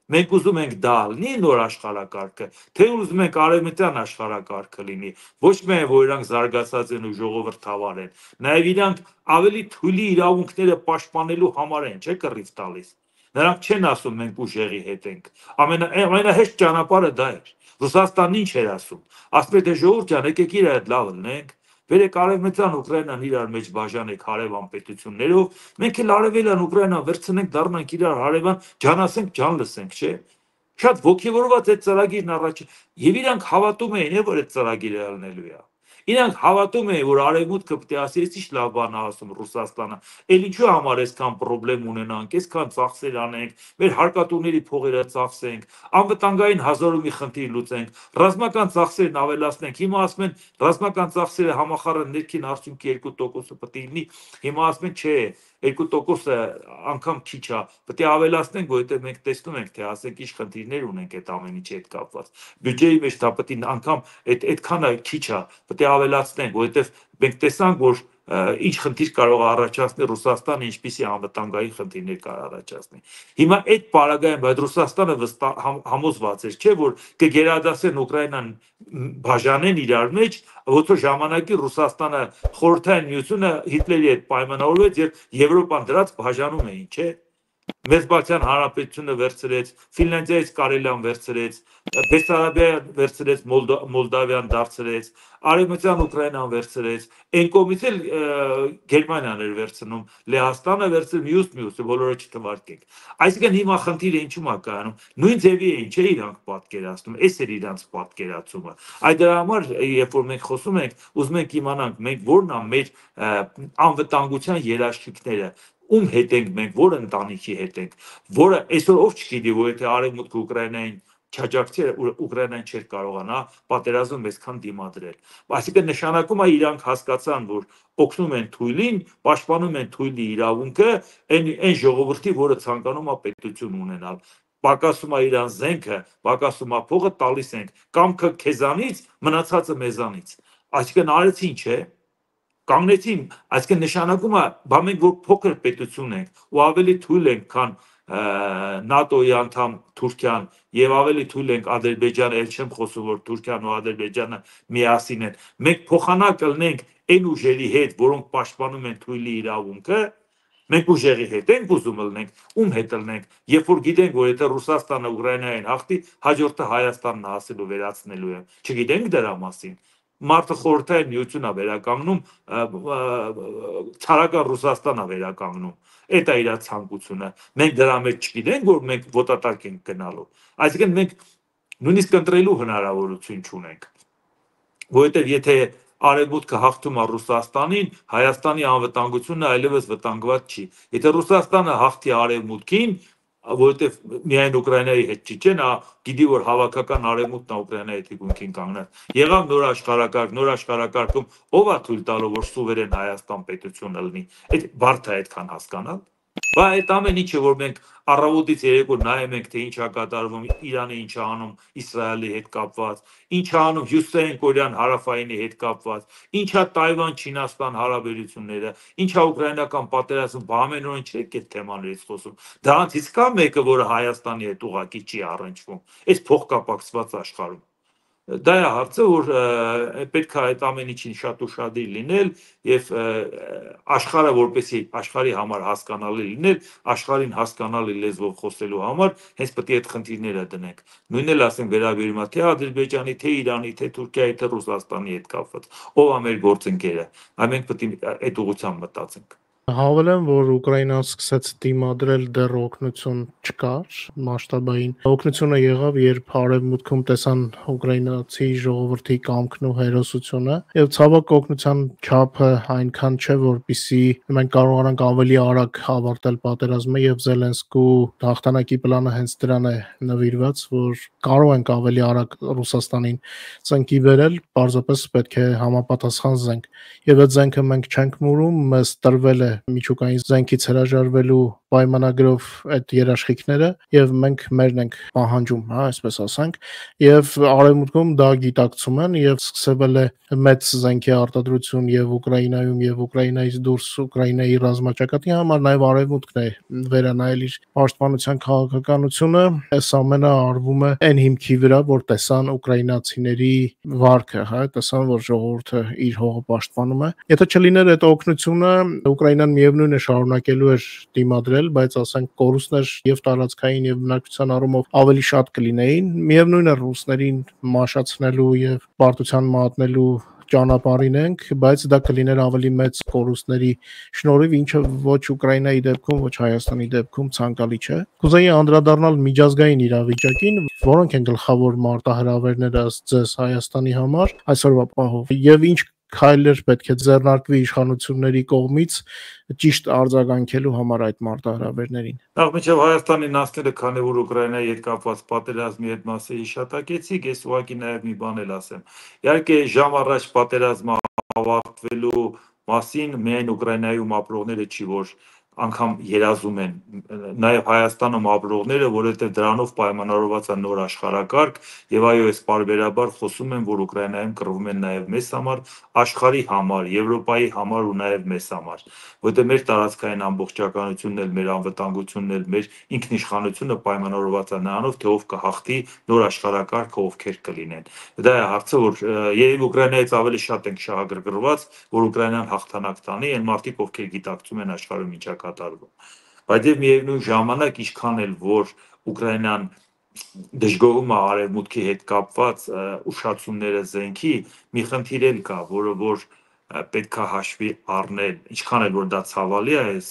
Մենք ուզում ենք դա լինի նոր աշխարհակարգը, թե ուզում ենք արևմտյան աշխարհակարգը լինի, ոչ միայն որ իրանք զարգացած են ու ժողովրդավար են, նաև իրանք ավելի թույլի իրավունքները պաշտպանելու համար են, չէ՞ կռիվ տալիս։ Նրանք չեն ասում մենք ուժեղի հետ ենք։ Ամենա ամենահեշտ ճանապարհը դա է։ Ռուսաստանն ինչ էր ասում։ Ասում էր դե ժողովուրդ ջան, եկեք իր հետ լավ լինենք։ Վերեք արևմտյան Ուկրաինան իրար մեջ բաժանեք հարևան պետություններով, մենք էլ արևելյան Ուկրաինան վերցնենք, դառնանք իրար հարևան, ջանասենք, ջան լսենք, չէ՞։ Շատ ոգևորված այդ ծրագիրն առաջ եւ իրանք հավատում էին, որ այդ ծրագիրը ելնելու է։ Իրանք հավատում էին, որ արևմուտքը պետք է ասի, ինչ լավ բան է ասում Ռուսաստանը։ Էլ ինչու համար այսքան խնդրեմ ունենանք, այսքան ծախսեր անենք, մեր հարկատուների փողերը ծախսենք, անվտանգային հազար ու մի խնդիր լուծենք, ռազմական ծախսերն ավելացնենք։ Հիմա ասում են, ռազմական ծախսերը համախառն ներքին արդյունքի երկու տոկոսը պետք է լինի։ Հիմա ասում են, չէ, երկու տոկոսը անգամ քիչ է, պետք է ավելացնենք, որովհետեւ մենք տեսնում ենք, թե ասենք ինչ խնդիրներ ունենք այդ ամեն ինչի հետ կապված։ Բյուջեի մեջ դա պետք է անգամ այդ այդքանը քիչ է, պետք է ավելացնենք, որովհետեւ մենք տեսանք, որ ինչ խնդիր կարող է առաջացնել Ռուսաստանը, ինչպիսի անվտանգային խնդիրներ կարող առաջացնի։ Հիմա այդ պարագայում, բայց Ռուսաստանը համոզված էր, չէ, որ կգերադասեն Ուկրաինան բաժանեն իրար մեջ, ոչ որ ժամանակի Ռուսաստանը խորհրդային միությունը Հիտլերի հետ պայմանավորվեց եւ Եվրոպան դրած բաժանում էին, չէ։ Մեծբարդյան հանրապետությունը վերցրեց, Ֆինլանդիայից Կարելիան վերցրեց, Բեսարաբիան վերցրեց, Մոլդավիան դարձրեց, Արևմտյան Ուկրաինան վերցրեց, այն կողմից էլ Գերմանիան էր վերցնում, Լեհաստանը վերցրել, մյուս մյուսը բոլորը չթվարկենք։ Այսինքն հիմա խնդիրը ինչու՞մ է կայանում։ Նույն ձևի էին, չէ, իրանք պատկերացնում, այս էր իրանք պատկերացումը։ Այդ դրա համար, երբ որ մենք խոսում ենք, ուզում ենք իմանանք, մենք ո՞րն է մեր անվտանգության երաշխիքները, ում հետ ենք մենք, որ ընտանիքի հետ ենք, որը այսօր ով չգիտի, որ եթե Արևմուտքը Ուկրաինային չաջակցեր, Ուկրաինան չէր կարողանա պատերազմում այսքան դիմադրել։ Այսինքն նշանակում է իրանք հասկացան, որ օգնում են թույլին, պաշտպանում են թույլի իրավունքը, այն այն ժողովրդի, որը ցանկանում է պետություն ունենալ։ Պակասում է իրան զենքը, պակասում է փողը, տալիս ենք կամքը քեզանից, մնացածը մեզանից։ Այսինքն արեցին, չէ։ Կանգնեցին, այսինքն նշանակում է, բա մենք որ փոքր պետություն ենք ու ավելի թույլ ենք, քան ՆԱՏՕ-ի անդամ Թուրքիան եւ ավելի թույլ ենք Ադրբեջանը, ել չեմ խոսում, որ Թուրքիան ու Ադրբեջանը միասին են։ Մենք փոխանակ կլնենք այն ուժերի հետ, որոնք պաշտպանում են թույլի իրավունքը, մենք ուժերի հետ ենք ուզում լնենք, ում հետ լնենք, երբ որ գիտենք, որ եթե Ռուսաստանը Ուկրաինային հաղթի, հաջորդը Հայաստանն հասելու վերացնելու է։ Չգիտենք դրա մասին։ Մարդը խորհրդային միությունն է վերականգնում, ցարական Ռուսաստանն է վերականգնում։ Այդ է իր ցանկությունը։ Մենք դրա մեջ չգիտենք, որ մենք ոտատակ ենք գնալու։ Այսինքն մենք նույնիսկ ընտրելու հնարավորություն չունենք։ Որովհետև եթե Արևմուտքը հաղթում է Ռուսաստանին, Հայաստանի անվտանգությունը այլևս վտանգված չի։ Եթե Ռուսաստանը հաղթի Արևմուտքին, որովհետև միայն Ուկրաինայի հետ չի, չէ՞, նա գիտի, որ հավաքական Արևմուտքն է Ուկրաինայի թիկունքին կանգնած։ Եղավ նոր աշխարհակարգ, նոր աշխարհակարգում ով է թույլ տալու, որ սուվերեն Հայաստան պետությունը լինի։ Այդ բարդ է այդքան հասկանալ։ Բա այդ ամեն ինչը, որ մենք առավոտից երեկո նայում ենք, թե ինչ է կատարվում, Իրանը ինչ է անում Իսրայելի հետ կապված, ինչ է անում Հյուսիսային Կորեան հարավայինի հետ կապված, ինչ է Թայվան-Չինաստան հարաբերությունները, ինչ է ուկրաինական պատերազմը, բա ամենօրեն չեք այդ թեմաներից խոսում։ Դրանցից կա մեկը, որը Հայաստանի հետ ուղղակի չի առնչվում, այս փոխկապակցված աշխարհում։ Դա է հարցը, որ պետք է այդ ամեն ինչին շատ ուշադիր լինել եւ աշխարհը որպեսի աշխարհի համար հասկանալի լինել, աշխարհին հասկանալի լեզվով խոսելու համար հենց պետք է այդ խնդիրները դնենք։ Նույնն էլ ասենք վերաբերում է թե Ադրբեջանի, թե Իրանի, թե Թուրքիայի, թե Ռուսաստանի հետ կապված։ Ով է մեր գործընկերը։ Այ մենք պետք է այդ ուղղությամբ մտածենք։ Հավելեմ, որ Ուկրաինան սկսեց դիմադրել, դեռ օգնություն չկար մասշտաբային։ Օգնությունը եղավ, երբ Արևմուտքում տեսան ուկրաինացի ժողովրդի կամքն ու հերոսությունը, եւ ցավոք օգնության չափը այնքան չէ, որպեսզի մենք կարողանանք ավելի արագ ավարտել պատերազմը, եւ Զելենսկու հաղթանակի պլանը հենց դրան է նվիրված, որ կարող ենք ավելի արագ Ռուսաստանին ծնկի բերել, պարզապես պետք է համապատասխան զենք։ Եվ այդ զենքը մենք չենք մուրում, մեզ տրվել է միջուկային զենքից հրաժարվելու պայմանագրով այդ երաշխիքները եւ մենք մերն ենք պահանջում, հա, այսպես ասենք, եւ Արևմուտքում դա գիտակցում են եւ սկսվել է մեծ զենքի արտադրություն եւ Ուկրաինայում եւ Ուկրաինայից դուրս Ուկրաինայի ռազմաճակատի համար նաեւ Արևմուտքն է վերանայել իր պաշտպանության քաղաքականությունը, այս ամենը արվում է այն հիմքի վրա, որ տեսան ուկրաինացիների վարքը, հա, տեսան, որ ժողովուրդը իր հողը պաշտպանում է։ Եթե չլիներ այդ օգնությունը, Ուկրաինան միևնույն է շարունակելու էր դիմադրել, բայց ասենք կորուստներ եւ տարածքային եւ բնակչության առումով ավելի շատ կլինեին։ Միևնույն է ռուսներին մաշացնելու եւ պարտության մատնելու ճանապարհին ենք, բայց դա կլիներ ավելի մեծ կորուստների շնորհիվ, ինչը ոչ Ուկրաինայի դեպքում, ոչ Հայաստանի դեպքում ցանկալի չէ։ Կուզեի անդրադառնալ միջազգային իրավիճակին, որոնք են գլխավոր մարտահրավերները ըստ ձեզ Հայաստանի համար այսօրվա պահով, եւ ինչ քայլեր պետք է ձեռնարկվի իշխանությունների կողմից ճիշտ արձագանքելու համար այդ մարտահրավերներին։ Նախ մինչև Հայաստանին ասները, քանի որ Ուկրաինայի հետ կապված պատերազմի հետ մասը հիշատակեցիք, ես ուղղակի նաև մի բան էլ ասեմ։ Իհարկե ժամ առաջ պատերազմը ավարտվելու մասին միայն Ուկրաինայում ապրողները չի, որ անգամ երազում են նաև Հայաստանում ապրողները, որովհետև դրանով պայմանավորված է նոր աշխարհակարգ եւ այո, այս պարբերաբար խոսում են, որ Ուկրաինայում կռվում են նաև մեզ համար, աշխարհի համար, Եվրոպայի համար ու նաև մեզ համար, որտեղ մեր տարածքային ամբողջականությունն էլ, մեր անվտանգությունն էլ, մեր ինքնիշխանությունը պայմանավորված է նրանով, թե ով կհաղթի նոր աշխարհակարգը, ովքեր կլինեն։ Դա է հարցը, որ երբ Ուկրաինայից ավելի շատ ենք շահագրգռված, որ Ուկրաինան հաղթանակ տանի, այն մարդիկ, ովքեր գիտակցում են աշխարհում ինչա կատարվում։ Բայց եւ միևնույն ժամանակ ինչքան էլ որ Ուկրաինան դժգոհում է արևմուտքի հետ կապված ուշացումները զենքի, մի խնդիր էլ կա, որը որ պետք է հաշվի առնել, ինչքան էլ որ դա ցավալի է, ես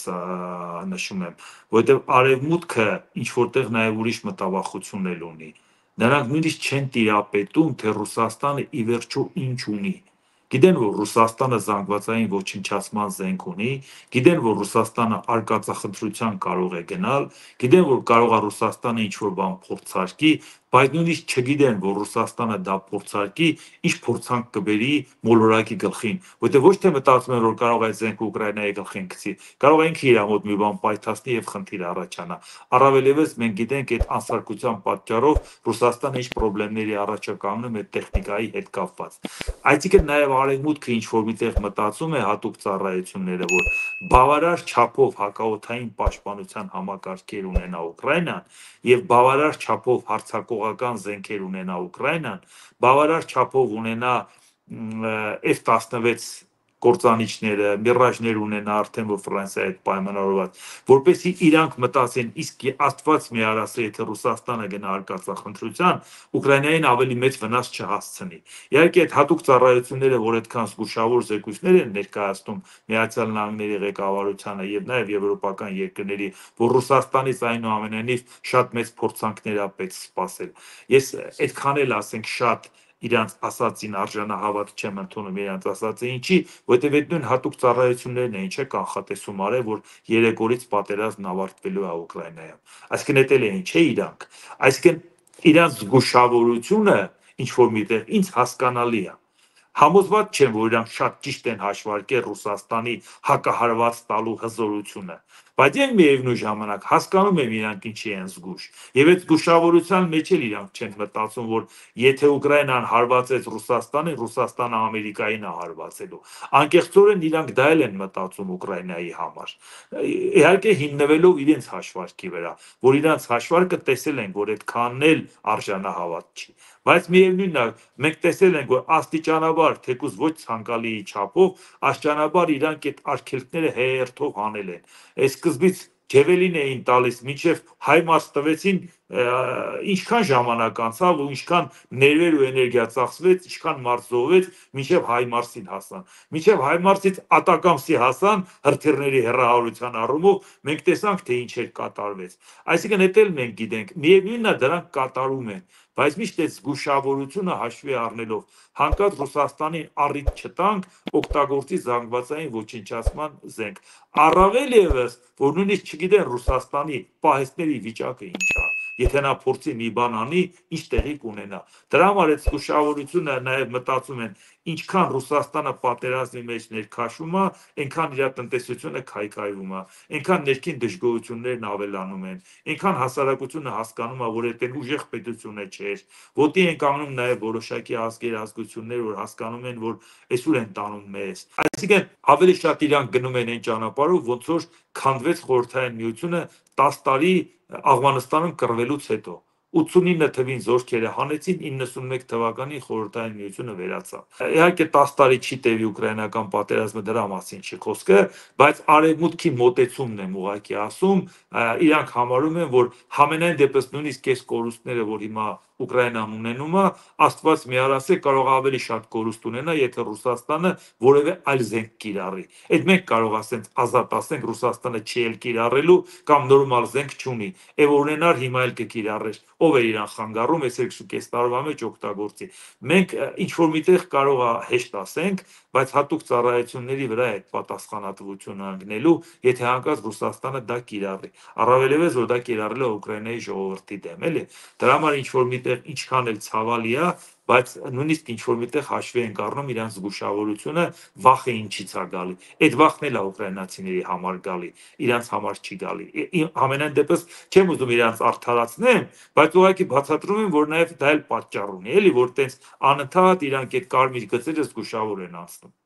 նշում եմ, որովհետև արևմուտքը ինչ որտեղ նաև ուրիշ մտավախություն էլ ունի։ Նրանք նույնիսկ չեն տիրապետում, թե Ռուսաստանը ի վերջո ինչ ունի։ Գիտեն, որ Ռուսաստանը զանգվածային ոչնչացման զենք ունի, գիտեն, որ Ռուսաստանը արկածախնդրության կարող է գնալ, գիտեն, որ կարող է Ռուսաստանը ինչ-որ բան փորձարկի, բայց նույնիսկ չգիտեն, որ Ռուսաստանը դա փորձարկի, ինչ փորձանք կբերի մոլորակի գլխին, որտեղ ոչ թե մտածում են, որ կարող է զենքը Ուկրաինայի գլխին գցի, կարող է ինքը իր մոտ մի բան պայթացնի եւ խնդիր առաջանա։ Առավել եւս մենք գիտենք այդ անսարկության պատճառով Ռուսաստանը ինչ խնդիրների առաջ է կանգնում այդ տեխնիկայի հետ կապված։ Այսինքն նաև արևմուտքը ինչ որ միտեղ մտածում է հատուկ ծառայությունները, որ բավարար չափով հակաօդային պաշտպանության համակարգեր ունենա Ուկրաինան եւ բավարար չափով հարձակողական զենքեր ունենա Ուկրաինան, բավարար չափով ունենա F տասնվեց կործանիչները, միրաժներ ունենա արդեն որ Ֆրանսիայի հետ պայմանավորված, որպեսզի իրանք մտածեն, իսկ Աստված մի արասը, եթե Ռուսաստանը գնա արկածախնդրության, Ուկրաինային ավելի մեծ վնաս չհասցնի։ Իհարկե այդ հատուկ ծառայությունները, որ այդքան զգուշավոր զեկույցներ են ներկայացնում Միացյալ Նահանգների ղեկավարությանը եւ նաեւ եվրոպական երկրների, որ Ռուսաստանից այնուամենայնիվ շատ մեծ փորձանքներ է պետք սպասել։ Ես այդքան էլ ասենք շատ իրանց ասացին արժանահավատ չեմ ընդունում իրանց ասացը ինչի, որտեղ այդ նույն հատուկ ծառայություններն են, չէ՞ կանխատեսում արել, որ երեք օրից պատերազմն ավարտվելու է Ուկրաինայում։ Այսինքն դա էլ է ինչ է իրանք։ Այսինքն իրանց զգուշավորությունը ինչ որ միտեղ ինձ հասկանալի է։ Համոզված չեմ, որ իրանք շատ ճիշտ են հաշվարկել Ռուսաստանի հակահարված տալու հզորությունը, բայց այն միևնույն ժամանակ հասկանում եմ իրանք ինչի են զգուշ։ Եվ այդ զգուշավորության մեջ էլ իրանք չեն մտածում, որ եթե Ուկրաինան հարվածեց Ռուսաստանին, Ռուսաստանը Ամերիկային է հարվածելու։ Անկեղծորեն իրանք դա էլ են մտածում Ուկրաինայի համար։ Իհարկե հիմնվելով իրենց հաշվարկի վրա, որ իրանց հաշվարկը տեսել են, որ այդքանն էլ արժանահավատ չի։ Բայց միևնույնն է, մենք տեսել ենք, որ աստիճանաբար, թեկուզ ոչ ցանկալի չափով, աստիճանաբար իրանք այդ արգելքները հերթով հանել են։ Այս սկզբից Ջևելին էին տալիս, մինչև Հայմարս տվեցին, ինչքան ժամանակ անցավ ու ինչքան ներվեր ու էներգիա ծախսվեց, ինչքան մարդ զոհվեց, մինչև Հայմարսին հասան։ Մինչև Հայմարսից Ատակամսի հասան հրթիռների հեռահարության առումով, մենք տեսանք, թե ինչ էր կատարվեց։ Այսինքն դա էլ մենք գիտենք, միևնույնն է դրանք կատարում են, բայց միշտ այդ զգուշավորությունը հաշվի առնելով հանկարծ Ռուսաստանին առիթ չտանք օգտագործի զանգվածային ոչնչացման զենք։ Առավել եւս, որ նույնիսկ չգիտեն Ռուսաստանի պահեստների վիճակը ինչ է, եթե նա փորձի մի բան անի, ինչ տեղի կունենա։ Դրա համար այդ զգուշավորությունը նաև մտածում են, ինչքան Ռուսաստանը պատերազմի մեջ ներքաշվում է, այնքան իր տնտեսությունը քայքայվում է, այնքան ներքին դժգոհություններն ավելանում են, այնքան հասարակությունը հասկանում է, որ այդ ուժեղ պետությունը չէր, ոտի են կանգնում նաև որոշակի ազգեր, ազգություններ, որ հասկանում են, որ այսօր են տանում մեզ։ Այսինքն ավելի շատ իրանք գնում են այն ճանապարհով, ոնց որ քանդվեց Խորհրդային Միությունը տասը տարի Աֆղանստանում կռվելուց հետո։ ութսունինը թվին զորքերը հանեցին, իննսունմեկ թվականին Խորհրդային Միությունը վերացավ։ Իհարկե տասը տարի չի տևի ուկրաինական պատերազմը, դրա մասին չի խոսքը, բայց արևմուտքի մոտեցումն եմ ուղղակի ասում, իրանք համարում են, որ համենայն դեպս նույնիսկ այս կորուստները, որ հիմա Ուկրաինան ունենում է, Աստված մի արասե կարող ավելի շատ կորուստ ունենա, եթե Ռուսաստանը որևէ այլ զենք կիրառի։ Այդ մենք կարող ասենք ազատ ասենք Ռուսաստանը չի էլ կիրառելու կամ նորմալ զենք չունի։ Եվ ունենար հիմա էլ կկիրառեր։ Ով է իրան խանգարում, այս երկու տարվա մեջ օգտագործի։ Մենք ինչ որ միտեղ կարող է հեշտ ասենք, բայց հատուկ ծառայությունների վրա է պատասխանատվությունը ընկնելու, եթե հանկարծ Ռուսաստանը դա կիրառի։ Առավել եւս որ դա կիրառել է Ուկրաինայի ժողովրդի դեմ, էլի։ Դրա համար ինչ որ միտեղ ինչքան էլ ցավալի է, բայց նույնիսկ ինչ որ միտեղ հաշվի ենք առնում իրանց զգուշավորությունը, վախը ինչից է գալի։ Այդ վախն էլ է ուկրաինացիների համար գալի, իրանց համար չի գալի։ Ամենայն դեպս չեմ ուզում իրանց արդարացնեմ, բայց ուղղակի բացատրում եմ, որ նաև դա էլ պատճառ ունի, էլի, որ տենց անընդհատ իրանք այդ կարմիր գծերը զգուշավոր են անցնում։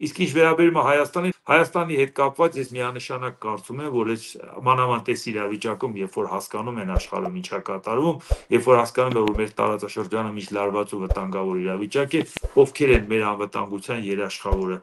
Իսկ ինչ վերաբերում է Հայաստանին, Հայաստանի հետ կապված ես միանշանակ կարծում եմ, որ այս մանավանդ այս իրավիճակում, երբ որ հասկանում են աշխարհում ինչա կատարվում, երբ որ հասկանում են, որ մեր տարածաշրջանը միշտ լարված ու վտանգավոր իրավիճակ է, ովքեր են մեր անվտանգության երաշխավորը։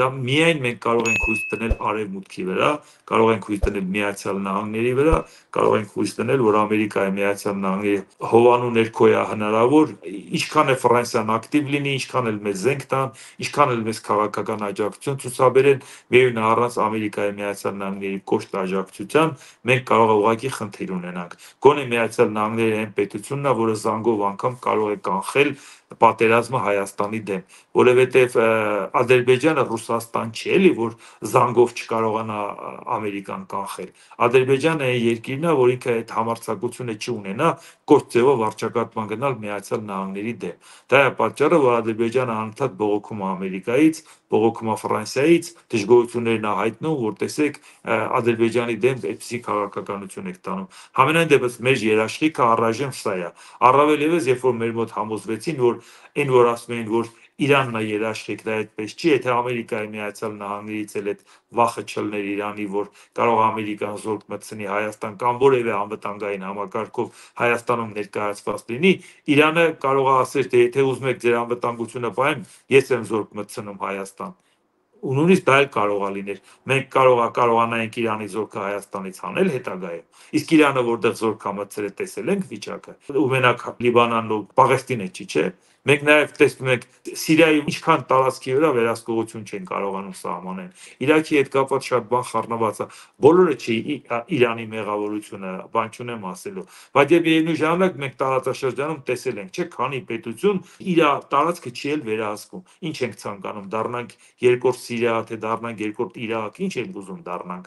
Դա միայն մենք կարող ենք հույս դնել Արևմուտքի վրա, կարող ենք հույս դնել Միացյալ Նահանգների վրա, կարող ենք հույս դնել, որ Ամերիկայի Միացյալ Նահանգների հովանու ներքոյա հնարավոր, ինչքան է Ֆրանսիան ակտիվ լինի, ինչքան էլ մեզ զենք տան, ինչքան էլ մեզ քաղաքական աջակցություն ցուցաբերեն, միևնույն առանց Ամերիկայի Միացյալ Նահանգների կոշտ աջակցության մենք կարող է ուղղակի խնդիր ունենանք։ Գոնե Միացյալ Նահանգների այն պետությունն է, որը զանգով անգամ կարող է կանխել պատերազմը Հայաստանի դեմ, որովհետև Ադրբեջանը Ռուսաստան չի, էլի, որ զանգով չկարողանա Ամերիկան կանխել։ Ադրբեջանը այն երկիրն է, որ ինքը այդ համարձակությունը չունենա կոշտ ձևով վարչակարգման գնալ Միացյալ Նահանգների դեմ։ Դա է պատճառը, որ Ադրբեջանը անընդհատ բողոքում է Ամերիկայից, բողոքում է Ֆրանսիայից, դժգոհություններն է հայտնում, որ տեսեք Ադրբեջանի դեմ այդպիսի քաղաքականություն եք տանում։ Համենայն դեպս մեր երաշխիքը առայժմ սա է։ Առավել ևս, երբ որ մեր մոտ համոզվեցին, որ այն որ ասում էին, որ Իրանն է երաշխիք, դա այդպես չի, եթե Ամերիկայի Միացյալ Նահանգներից էլ այդ վախը չլներ Իրանի, որ կարող Ամերիկան զորք մտցնի Հայաստան կամ որևէ անվտանգային համակարգով Հայաստանում ներկայացված լինի, Իրանը կարող է ասել, թե եթե ուզում եք ձեր անվտանգությունը պահեմ, ես եմ զորք մտցնում Հայաստան։ Ու նույնիսկ դա էլ կարող է լինել։ Մենք կարող է կարողանայինք Իրանի զորքը Հայաստանից հանել հետագայում։ Իսկ Իրանը որտեղ զորք է մտցրել, տեսել ենք վիճակը։ Ու մենակ Լիբանանն ու Պաղեստինը չի, չէ։ Մենք նաև տեսնում ենք Սիրիայում ինչքան տարածքի վրա վերահսկողություն չեն կարողանում սահմանեն։ Իրաքի հետ կապված շատ բան խառնված է։ Բոլորը չի Իրանի մեղավորությունը, բան չունեմ ասելու։ Բայց եւ միևնույն ժամանակ մենք տարածաշրջանում տեսել ենք, չէ, քանի պետություն իր տարածքը չի էլ վերահսկում։ Ինչ ենք ցանկանում, դառնանք երկրորդ Սիրիա, թե դառնանք երկրորդ Իրաք, ինչ ենք ուզում դառնանք,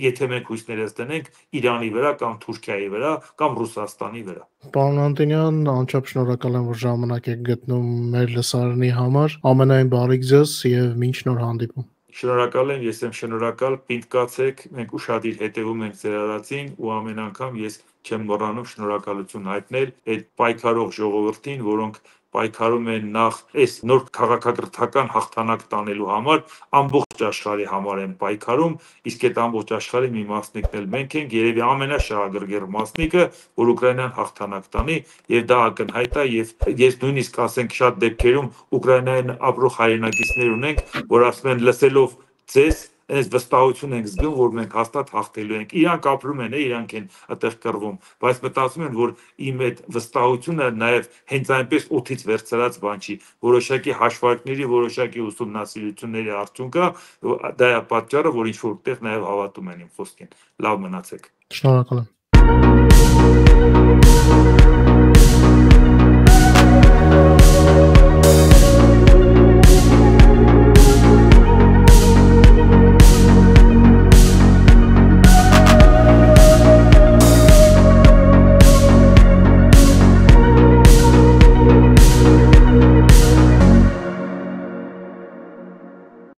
եթե մենք հույսներս դնենք Իրանի վրա կամ Թուրքիայի վրա կամ Ռուսաստանի վրա։ Պարոն Անտոնյան, անչափ շնորհակալ եմ, որ ժամանակ եք գտնում մեր լսարանի համար։ Ամենայն բարիք ձեզ եւ մինչ նոր հանդիպում։ Շնորհակալ եմ, ես եմ շնորհակալ, պինդ կացեք, մենք ուշադիր հետևում ենք ձեր արածին ու ամեն անգամ ես չեմ մոռանում շնորհակալություն հայտնել այդ պայքարող ժողովրդին, որոնք պայքարում են նախ այս նոր քաղաքակրթական հաղթանակ տանելու համար, ամբողջ աշխարհի համար են պայքարում, իսկ այդ ամբողջ աշխարհի մի մասնիկն էլ մենք ենք, երևի ամենաշահագրգիռ մասնիկը, որ Ուկրաինան հաղթանակ տանի, եւ դա ակնհայտ է, եւ ես նույնիսկ ասենք շատ դեպքերում Ուկրաինայում ապրող հայրենակիցներ ունենք, որ ասում են լսելով ձեզ այս վստահություն ենք զգում, որ մենք հաստատ հաղթելու ենք։ Իրանք ապրում են, իրանք են այդտեղ կռվում, բայց մտածում են, որ իմ այդ վստահությունը նաև հենց այնպես օդից վերցրած բան չի, որոշակի հաշվարկների, որոշակի ուսումնասիրությունների արդյունք է, դա է պատճառը, որ ինչ որտեղ նաև հավատում են իմ խոսքին։ Լավ մնացեք։ Շնորհակալ եմ։